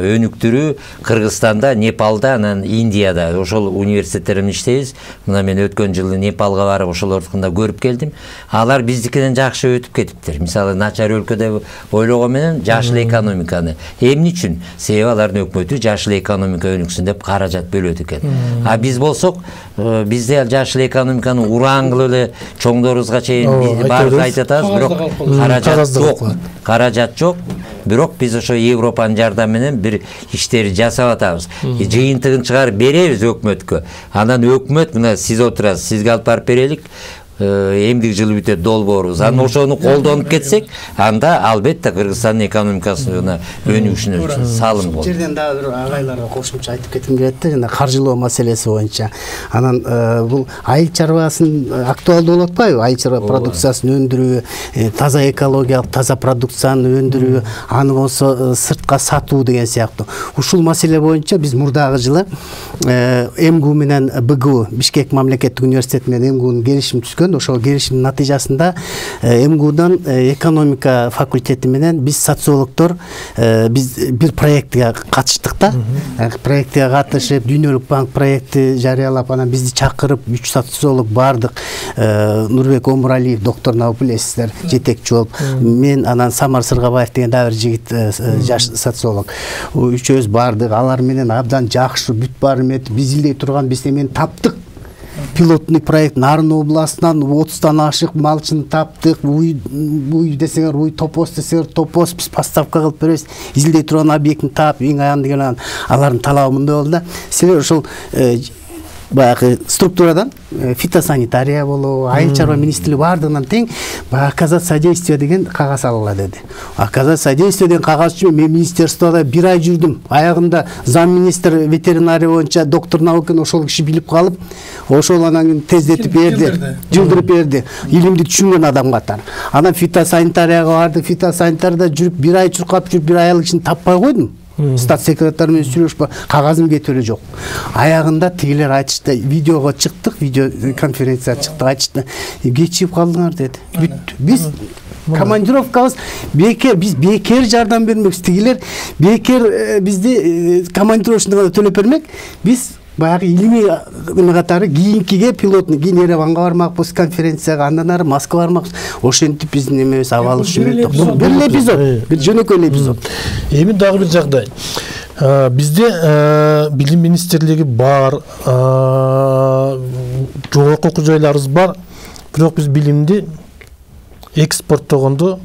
өнүктүрүү Кыргызстанда, Непалда, анан Индияда ошол университеттер менен иштейбиз. Мына мен өткөн жылы Непалга барып ошолордукунда көрүп келдим. Алар биздикинен жакшы өтүп кетиптир. Мисалы начар өлкөдө ойлогон менен жашыл экономиканы эмне үчүн? Себеби алардын өкмөтү жашыл экономика өнүксүн деп каражат бөлөт экен. А биз болсок, бизде жашыл экономиканы ураан кылып эле чоңдорубузга чейин барып айтып атабыз, бирок каражат жок. Бирок биз ошо Европанын жардамы менен бир иштерди жасап атабыз. Жыйынтыгын чыгарып беребиз өкмөткө. Анан өкмөт мына сиз отурасыз, сизге алып барып берелик. Эмдик жылы бүтөт долбоорубуз. Анан ошону колдонуп кетсек, анда албетте Кыргызстандын экономикасына өнүгүшүнө салым болот. Жерден дагы бир агайларга кошумча айтып кетким келет да, жана каржылоо маселеси боюнча. Анан бул айыл чарбасын актуалдуу болуп атпайбы? Айыл чарба продукциясын өндүрүү, таза экологиялык, таза продукцияны өндүрүү, аны болсо сыртка сатуу деген сыяктуу. Ушул маселе боюнча биз мурдагы жылы МГУ менен БГУ, Бишкек мамлекеттик университети менен МГУнун келишим түзгөн. Ошол келишимдин натыйжасында МГУдан экономика факультети менен биз социологдор биз бир проектке катыштык да. Проектке катышып, Дүйнөлүк банк проекти жарыялап, анан бизди чакырып 3 социолог бардык. Нурбек Омуралиев, доктор Набып билесиздер, жетекчи болуп, мен анан Самар Сыргабаев деген дагы бир жигит жаш социолог. Үчөөбүз бардык, алар менен абдан жакшы бүт баары метип биз илдей турган биз эмени таптык. Пилотный проект Нарын областынан 30-тан ашык малчыны таптык. Уй десеңер уй, топос десеңер топос, биз поставка кылып беребиз. Изилдей турган объектни таап, эң аянды келген алардын талабы мындай болду да. Силер ошол баягы структурадан фитосанитария болобу, айыл чарба министрлиги бардыгынан тең оказать содействие деген кагаз алгыла деди. Оказать содействие деген кагаз үчүн мен министерстводо 1 ай жүрдүм. Аягында замминистр ветеринария боюнча доктор Наукин ошол киши билип калып, ошол анан тездетип берди, жылдырып берди. Илимди түшүнгөн адам катары. Анан фитосанитарияга барды, фитосанитарияда жүрүп 1 ай чуркап жүрүп 1 ай кишини таппай койдум. Стат секретарь менен сүйлөшүп, кагазым кетип эле жок. Аягында тигилер айтышты, видеого чыктык, видео конференция чыкты, айтышты. Кечип калдыңар деди. Биз командировкабыз бекер, биз бекер жардам бермекпиз. Тигилер бекер бизди командировочныйга төлөп бермек. Биз баягы илимий катары кийинкиге пилотный кийин Ереванга бармакпыз, конференцияга, андан ары Москва бармакпыз. Ошентип биздин эмебиз абалы үчүн бир эпизод, бир жөнөкөй эпизод. Эми дагы бир жагдай. Бизде билим министрлиги бар, жогорку окуу жайларыбыз бар, бирок биз билимди экспорттогонду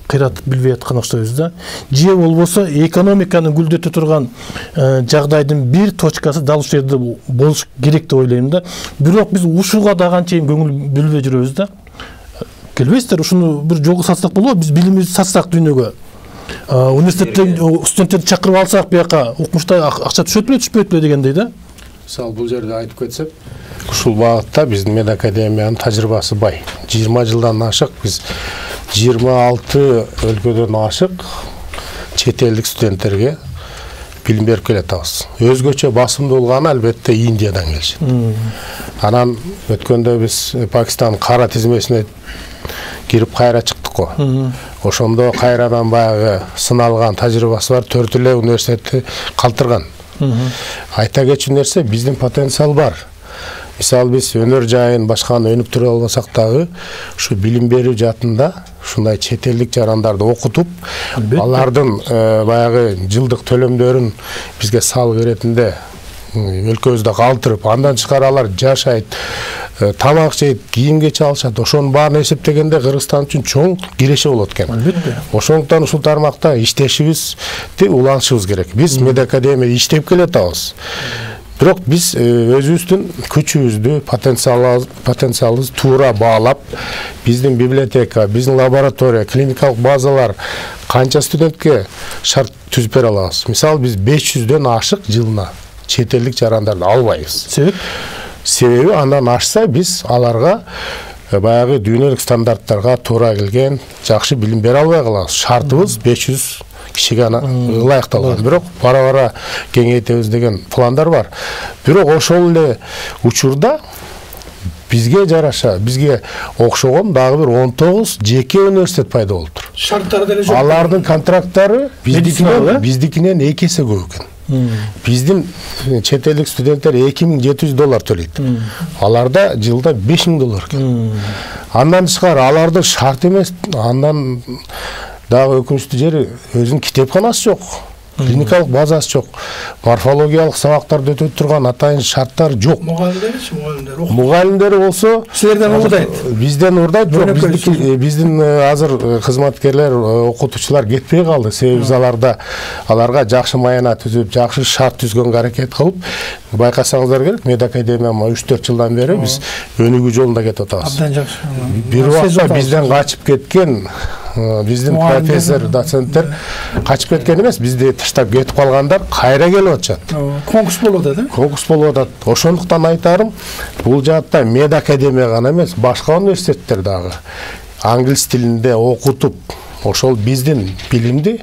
кыйратып билбей аткан окшойбуз да. Же болбосо экономиканы гүлдөтө турган жагдайдын бир точкасы дал ушул жерде болуш керек деп ойлойм да. Бирок биз ушуга да канчайым көңүл бөлбөй жүрөбүз да. Келбейсиздер, ушуну бир жолго сатсак болобу? Биз билимибизди сатсак дүйнөгө. Университеттен студенттерди чакырып алсак, бияка окумушта акча түшөт беле, түшпөйт беле дегендей да. Мисалы бул жерде айтып кетсек, ушул багытта биздин медакадемиянын тажрыйбасы бай. 20 жылдан ашык биз 26 өлкөдөн ашык чет элдик студенттерге билим берип келатабыз. Өзгөчө басымдуу болгону албетте Индиядан келишет. Анан өткөндө биз Пакистан кара тизмесине кирип кайра чыктык го. Ошондо кайрадан баягы сыналган тажрыйбасы бар 4 эле университетти калтырган. Айта кетчү нерсе, биздин потенциал бар. Мисалы биз өнөр жайын башканы өнүктүрө албасак дагы, ушу билим берүү жаатында ушундай чет элдик жарандарды окутуп, алардын баягы жылдык төлөмдөрүн бизге салык иретинде өлкөбүздө калтырып, андан тышкары алар жашайт, тамак жейт, кийимге чалышат. Ошонун баарын эсептегенде Кыргызстан үчүн чоң киреше болот экен. Албетте. Ошондуктан ушул тармакта иштешибизди улантышыбыз керек. Биз медакадемияда иштеп келатабыз. Бирок биз өзүбүздүн күчүбүздү, потенциалыбызды туура баалап, биздин библиотека, биздин лаборатория, клиникалык базалар канча студентке шарт түзүп бере алабыз. Мисалы биз 500дөн ашык жылына чет элдик жарандарды албайбыз. Себеби андан ашса биз аларга баягы дүйнөлүк стандарттарга туура келген жакшы билим бере албай калабыз. Шартыбыз 500 кишиге ылайыкталган. Бирок бара-бара кеңейтебиз деген пландар бар. Бирок ошол эле учурда бизге жараша, бизге окшогон дагы бир 19 жеке университет пайда болуптур. Шарттары деле жок. Алардын контракттары биздикинен 2 эсе көп экен. Биздин чет элдик студенттер $2700 төлөйт. Аларда жылда $5000 экен. Андан тышкары алардын шарт эмес, андан дагы өкүнүчтүү жери өзүнүн китепканасы жок. Клиникалык базасы жок. Морфологиялык сабактарды өтөп турган атайын шарттар жок. Мугалимдери болсо силерден урдайт. Бизден урдайт. Биздин азыр кызматкерлер, окутуучулар кетпей калды. Себеби биз аларга жакшы майына түзүп, жакшы шарт түзгөнгө аракет кылып, байкасаңыздар керек, медакадемия 3-4 жылдан бери биз өнүгүү жолунда кетип атабыз. Абдан жакшы. Бир убакта бизден качып кеткен биздин профессор, доценттер качып кеткен эмес, бизди таштап кетип калгандар кайра келип атышат. Конкурс болуп атат, Конкурс болуп атат. Ошондуктан айтарым, бул жаатта медакадемия гана эмес, башка университеттер дагы англис тилинде окутуп, ошол биздин билимди,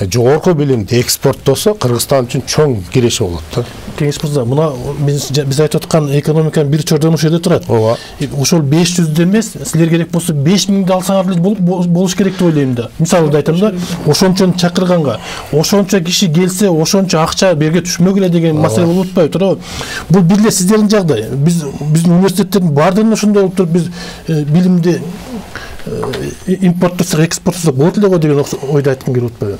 жогорку билимди экспорттосо Кыргызстан үчүн чоң киреше болот да. Кеңеш мырза, мына биз айтып аткан экономиканын бир чордону ошол жерде турат. Ооба. Ошол 500 эмес, силер керек болсо 5000 алсаңар деле болуш керек деп ойлойм да. Мисалы айтам да, ошончону чакырганга, ошончо киши келсе, ошончо акча берге түшмөк эле деген маселе болуп атпайбы, туурабы? Бул бир эле сиздердин жагдай. Биздин университеттердин баардыгында ошондой болуп туруп, биз билимди импорттосок, экспорттосок болот эле го деген ойду айткым келип атпайбы?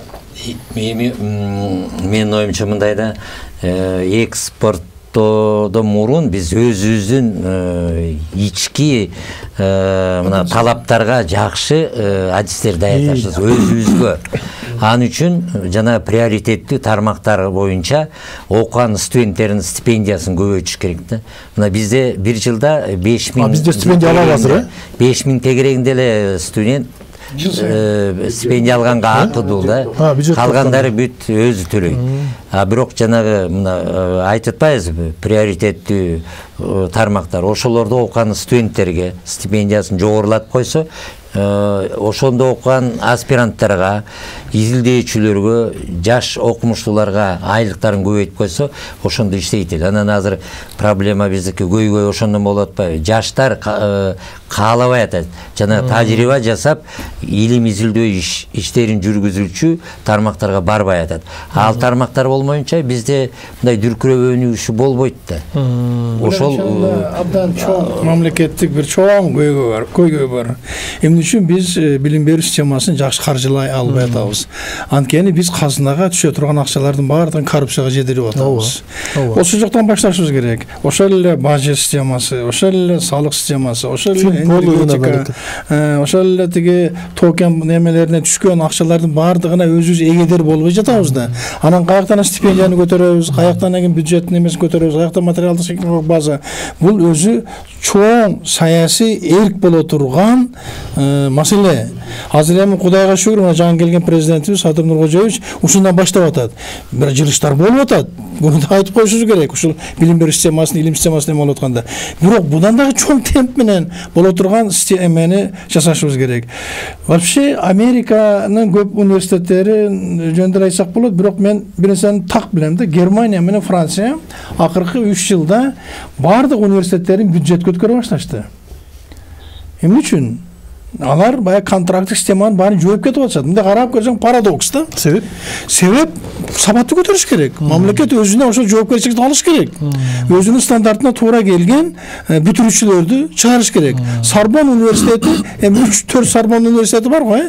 Менин оюмча мындай да, экспорттоодон мурун биз өзүбүздүн ички мына талаптарга жакшы адистер даярдашыбыз өзүбүзгө. Ал үчүн жана приоритеттүү тармактар боюнча окуган студенттердин стипендиясын көбөйтүш керек да. Мына бизде бир жылда 5000. Бизде стипендия алабыз азыр, 5000 тегерегинде эле студент стипендия алганга акыдуу да. Калгандары бүт өзү төлөйт. Бирок жанагы мына айтып атпайбызбы, приоритеттүү тармактар ошолордо окуган студенттерге стипендиясын жогорулатып койсо, ошондо окуган аспиранттарга, изилдөөчүлөргө, жаш окумуштууларга айлыктарын көбөйтүп койсо, ошондо иштейт эле. Анан азыр проблема биздики көйгөй ошондон болуп атпайбы? Жаштар каалабай атат. Жана тажрыйба жасап, илим изилдөө иштерин жүргүзүүчү тармактарга барбай атат. Ал тармактар болмок болмоюнча бизде мындай дүркүрөп өнүгүшү болбойт да. Ошол абдан чоң мамлекеттик бир чоң көйгөй бар. Эмне үчүн биз билим берүү системасын жакшы каржылай албай атабыз? Анткени биз казынага түшө турган акчалардын баардыгын коррупцияга жедирип атабыз. Ошол жактан башташыбыз керек. Ошол эле бажет системасы, ошол эле салык системасы, ошол эле энергетика, ошол эле тиги токен немелерине түшкөн акчалардын баардыгына өзүбүз эгедер болбой жатабыз да. Анан каяктан стипендияны көтөрөбүз, каяктан бюджеттин эмесин көтөрөбүз, каяктан материалдык техникалык база. Бул өзү чоң саясий эрк боло турган маселе. Азыр эми Кудайга шүгүр, мына жаңы келген президентибиз Садыр Нуркожоевич ушундан баштап атат. Бир жылыштар болуп атат. Буну да айтып коюшубуз керек. Ушул билим берүү системасын, илим системасын эме болуп атканда. Бирок будан дагы чоң темп менен боло турган эмени жасашыбыз керек. Вообще Американын көп университеттери жөнүндө айтсак болот, бирок мен бир нерсени так билем да. Германия менен Франция акыркы 3 жылда бардык университеттерин бюджет көтөрө башташты. Эмне үчүн? Алар баягы контракттык системанын баарын жооп кетип атышат. Мындай карап көрсөң парадокс да. Себеп сабатты көтөрүш керек. Мамлекет өзүнө ошол жоопкерчиликти алыш керек. Өзүнүн стандартына туура келген бүтүрүүчүлөрдү чыгарыш керек. Сорбон университети, эми 3-4 Сорбон университети бар го,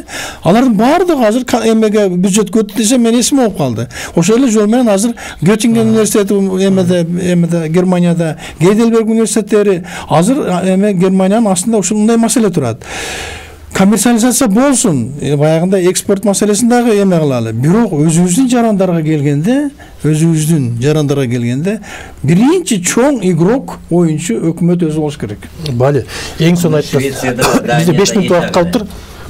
алардын баардыгы азыр эмеге бюджет көтөрүп десе мен эсиме алып калды. Ошол эле жол менен азыр Göttingen университети эмеде Германияда, Гейдельберг университеттери азыр эме Германиянын астында ушундай маселе турат. Коммерциализация болсун, баягында экспорт маселесин дагы эме кылалы. Бирок өзүбүздүн жарандарга келгенде, биринчи чоң игрок, оюнчу өкмөт өзү болуш керек. Бали, эң сонун айттыңыз. Бизде 5 мүнөт убакыт калыптыр.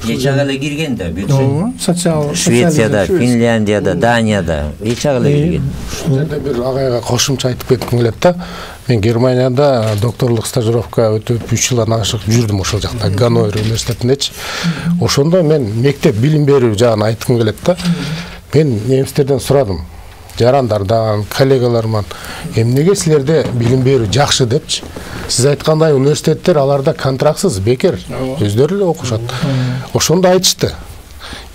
Эч ага эле кирген да бюджет. Социал Швецияда, Финляндияда, Данияда эч ага эле кирген. Ушул жерде бир агайга кошумча айтып кетким келет да. Мен Германияда докторлук стажировка өтүп 3 жылдан ашык жүрдүм ошол жакта, Ганновер университетиндечи. Ошондо мен мектеп билим берүү жагын айткым келет да. Мен немистерден сурадым, жарандардан, коллегаларыман, эмнеге силерде билим берүү жакшы депчи. Сиз айткандай университеттер аларда контрактсыз, бекер, өздөрү эле окушат. Ошондо айтышты.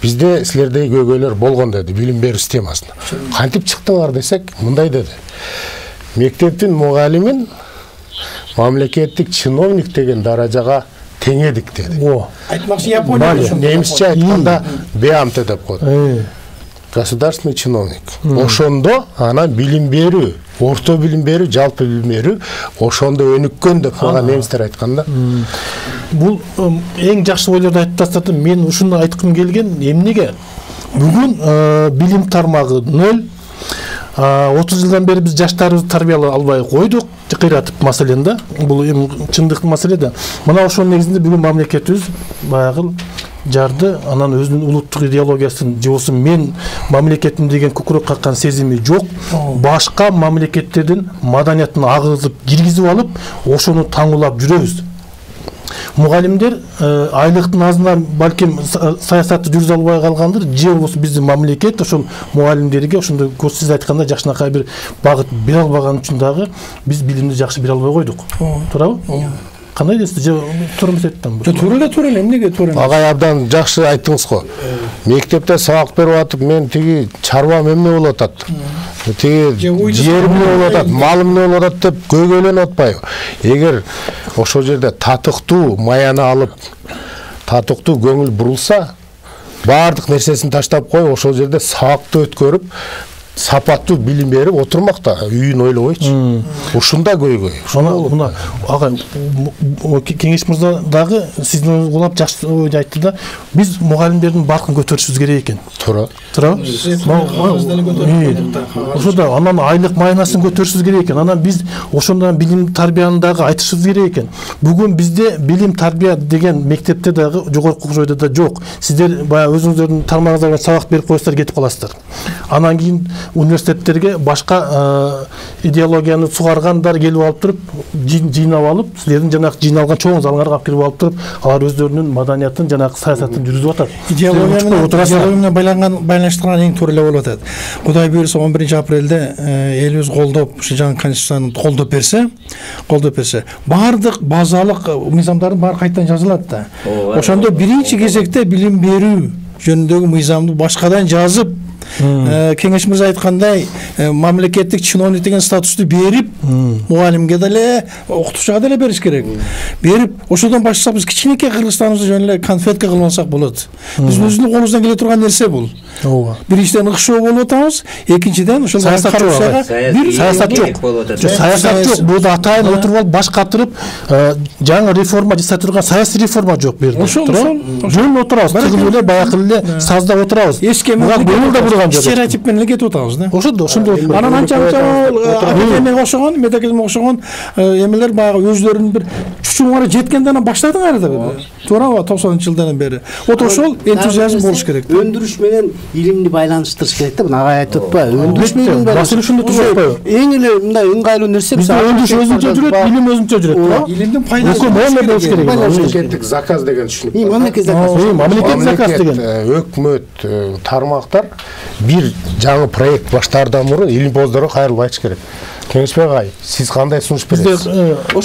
Бизде силердеги көйгөйлөр болгон деди билим берүү системасында. Кантип чыктыңар десек, мындай деди. Мектептин мугалимин мамлекеттик чиновник деген даражага теңедик деди. Айтмакчы Япония. Немисче айтканда Беамте деп коет. Государственный чиновник. Ошондо анан билим берүү, орто билим берүү, жалпы билим берүү ошондо өнүккөн деп мага немистер айтканда. Бул эң жакшы ойлорду айтып тастадым. Мен ушуну айткым келген, эмнеге бүгүн билим тармагы 0. 30 жылдан бери биз жаштарыбызды тарбиялай албай койдук, кыйратып маселен да. Бул эми чындыктуу маселе да. Мына ошонун негизинде бүгүн мамлекетибиз баягы жарды, анан өзүнүн улуттук идеологиясын же мен мамлекетим деген күкүрөк каккан сезими жок. Башка мамлекеттердин маданиятын агызып киргизип алып, ошону таңуулап жүрөбүз. Мугалимдер айлыктын азынан балким саясатты жүргүзө албай калгандыр, же болбосо биздин мамлекет ошол мугалимдерге ошондой сиз айткандай жакшынакай бир багыт бере албаган үчүн дагы биз билимди жакшы бере албай койдук. Туурабы? Кандай дейсиз? Же туура эмес айттым? Туура эле, эмнеге туура эмес? Агай абдан жакшы айттыңыз го. Мектепте сабак берип атып, мен тиги чарбам эмне болуп атат? Тиги жерим эмне болуп атат, малым эмне болуп атат деп көйгөйлөнүп атпайбы? Эгер ошол жерде татыктуу маяны алып, татыктуу көңүл бурулса, баардык нерсесин таштап коюп, ошол жерде сабакты өткөрүп, сапаттуу билим берип отурмак да, үйүн ойлобойчу. Ушунда көйгөй. Мына агай Кеңеш мырза дагы сиздин улап жакшы ойду айтты да. Биз мугалимдердин баркын көтөрүшүбүз керек экен. Туурабы? Ошондо анан айлык майнасын көтөрүшүбүз керек экен. Анан биз ошондон билим тарбияны дагы айтышыбыз керек экен. Бүгүн бизде билим тарбия деген мектепте дагы жогорку окуу жайда да жок. Сиздер баягы өзүңүздөрдүн тармагыңыздарга сабак берип коесуздар, кетип каласыздар. Анан кийин университеттерге башка идеологияны сугаргандар келип алып туруп, жыйнап алып, силердин жанагы жыйналган чоң залыңарга алып келип алып туруп, алар өздөрүнүн маданиятын, жанагы саясатын жүргүзүп атат. Идеология менен байланыштырган эң туура эле болуп атат. Кудай буйрса 11 апрелде элибиз колдоп, ушу жаңы конституцияны колдоп берсе, баардык базалык мыйзамдардын баары кайрадан жазылат да. Ошондо биринчи кезекте билим берүү жөнүндөгү мыйзамды башкадан жазып, Кеңеш мырза айткандай, мамлекеттик чиновник деген статусту берип, мугалимге деле, окутуучуга деле бериш керек. Берип, ошодон баштасак биз кичинекей Кыргызстаныбызды жөн эле конфетка кылмасак болот. Биздин өзүбүздүн колубуздан келе турган нерсе бул. Ооба. Биринчиден ыкшоо болуп атабыз, экинчиден ошол саясат жок. Саясат жок. Бул атайын отуруп алып баш катырып, жаңы реформа жасай турган саясий реформа жок бу жерде. Жөн отурабыз, тыгыл эле баягы эле сазда отурабыз. Буга көңүл да бурган жок. Стереотип менен кетип атабыз да. Ошондо анан анча-мынча академияга окшогон, медакадемияга окшогон эмелер баягы өзлөрүнүн бир чучуңара жеткенден баштадың ары да. Туурабы 90-жылдардан бери. Вот ошол энтузиазм болуш керек. Өндүрүш менен илимди байланыштырыш керек да. Мына агай айтып атпайбы? Өндүрүш менен маселе ушунда туруп атпайбы? Эң эле мындай ыңгайлуу нерсе бизде өндүрүш өзүнчө жүрөт, билим өзүнчө жүрөт. Илимдин пайдасы болуш керек. Мамлекеттик заказ деген түшүнүк. Мамлекеттик заказ деген өкмөт тармактар бир жаңы проект баштаардан мурун илимпоздорго кайрылып айтыш керек. Кеңешбек агай, сиз кандай сунуш бересиз?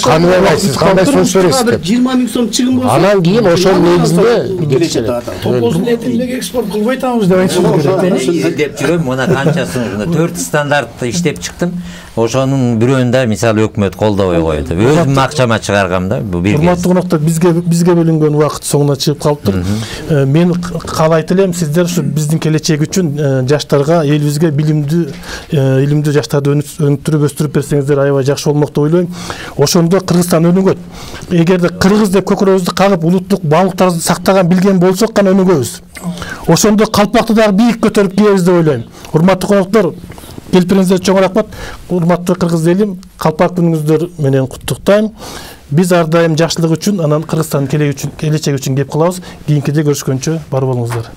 Каныбек агай, сиз кандай сунуш бересиз деп. 20 000 сом чыгым болсо. Анан кийин ошонун негизинде келечек. Топоздун этин эмнеге экспорт кылбай атабыз деп айтышыбыз керек. Деп жүрөм, мына канчасын 4 стандартты иштеп чыктым. Ошонун бирөөнү да мисалы өкмөт колдобой коет. Өзүм акчама чыгаргам да. Бу бир. Урматтуу коноктору, бизге бөлүнгөн убакыт соңуна чыгып калыптыр. Мен каалайт элем сиздер ушу биздин келечек үчүн жаштарга, элибизге илимдүү жаштарды өнүктүрүп өстүрүп берсеңиздер аябай жакшы болмок деп ойлойм. Ошондо Кыргызстан өнүгөт. Эгерде кыргыз деп көкүрөбүздү кагып, улуттук баалыктарды сактаган билген болсок гана өнүгөбүз. Ошондо калпакты дагы бийик көтөрүп кийебиз деп ойлойм. Урматтуу коноктор, келипиңиздер чоң рахмат. Урматтуу кыргыз элим, калпак күнүңүздөр менен куттуктайм. Биз ар дайым жакшылык үчүн, анан Кыргызстандын келечеги үчүн кеп калабыз. Кийинкиде көрүшкөнчө бар болуңуздар.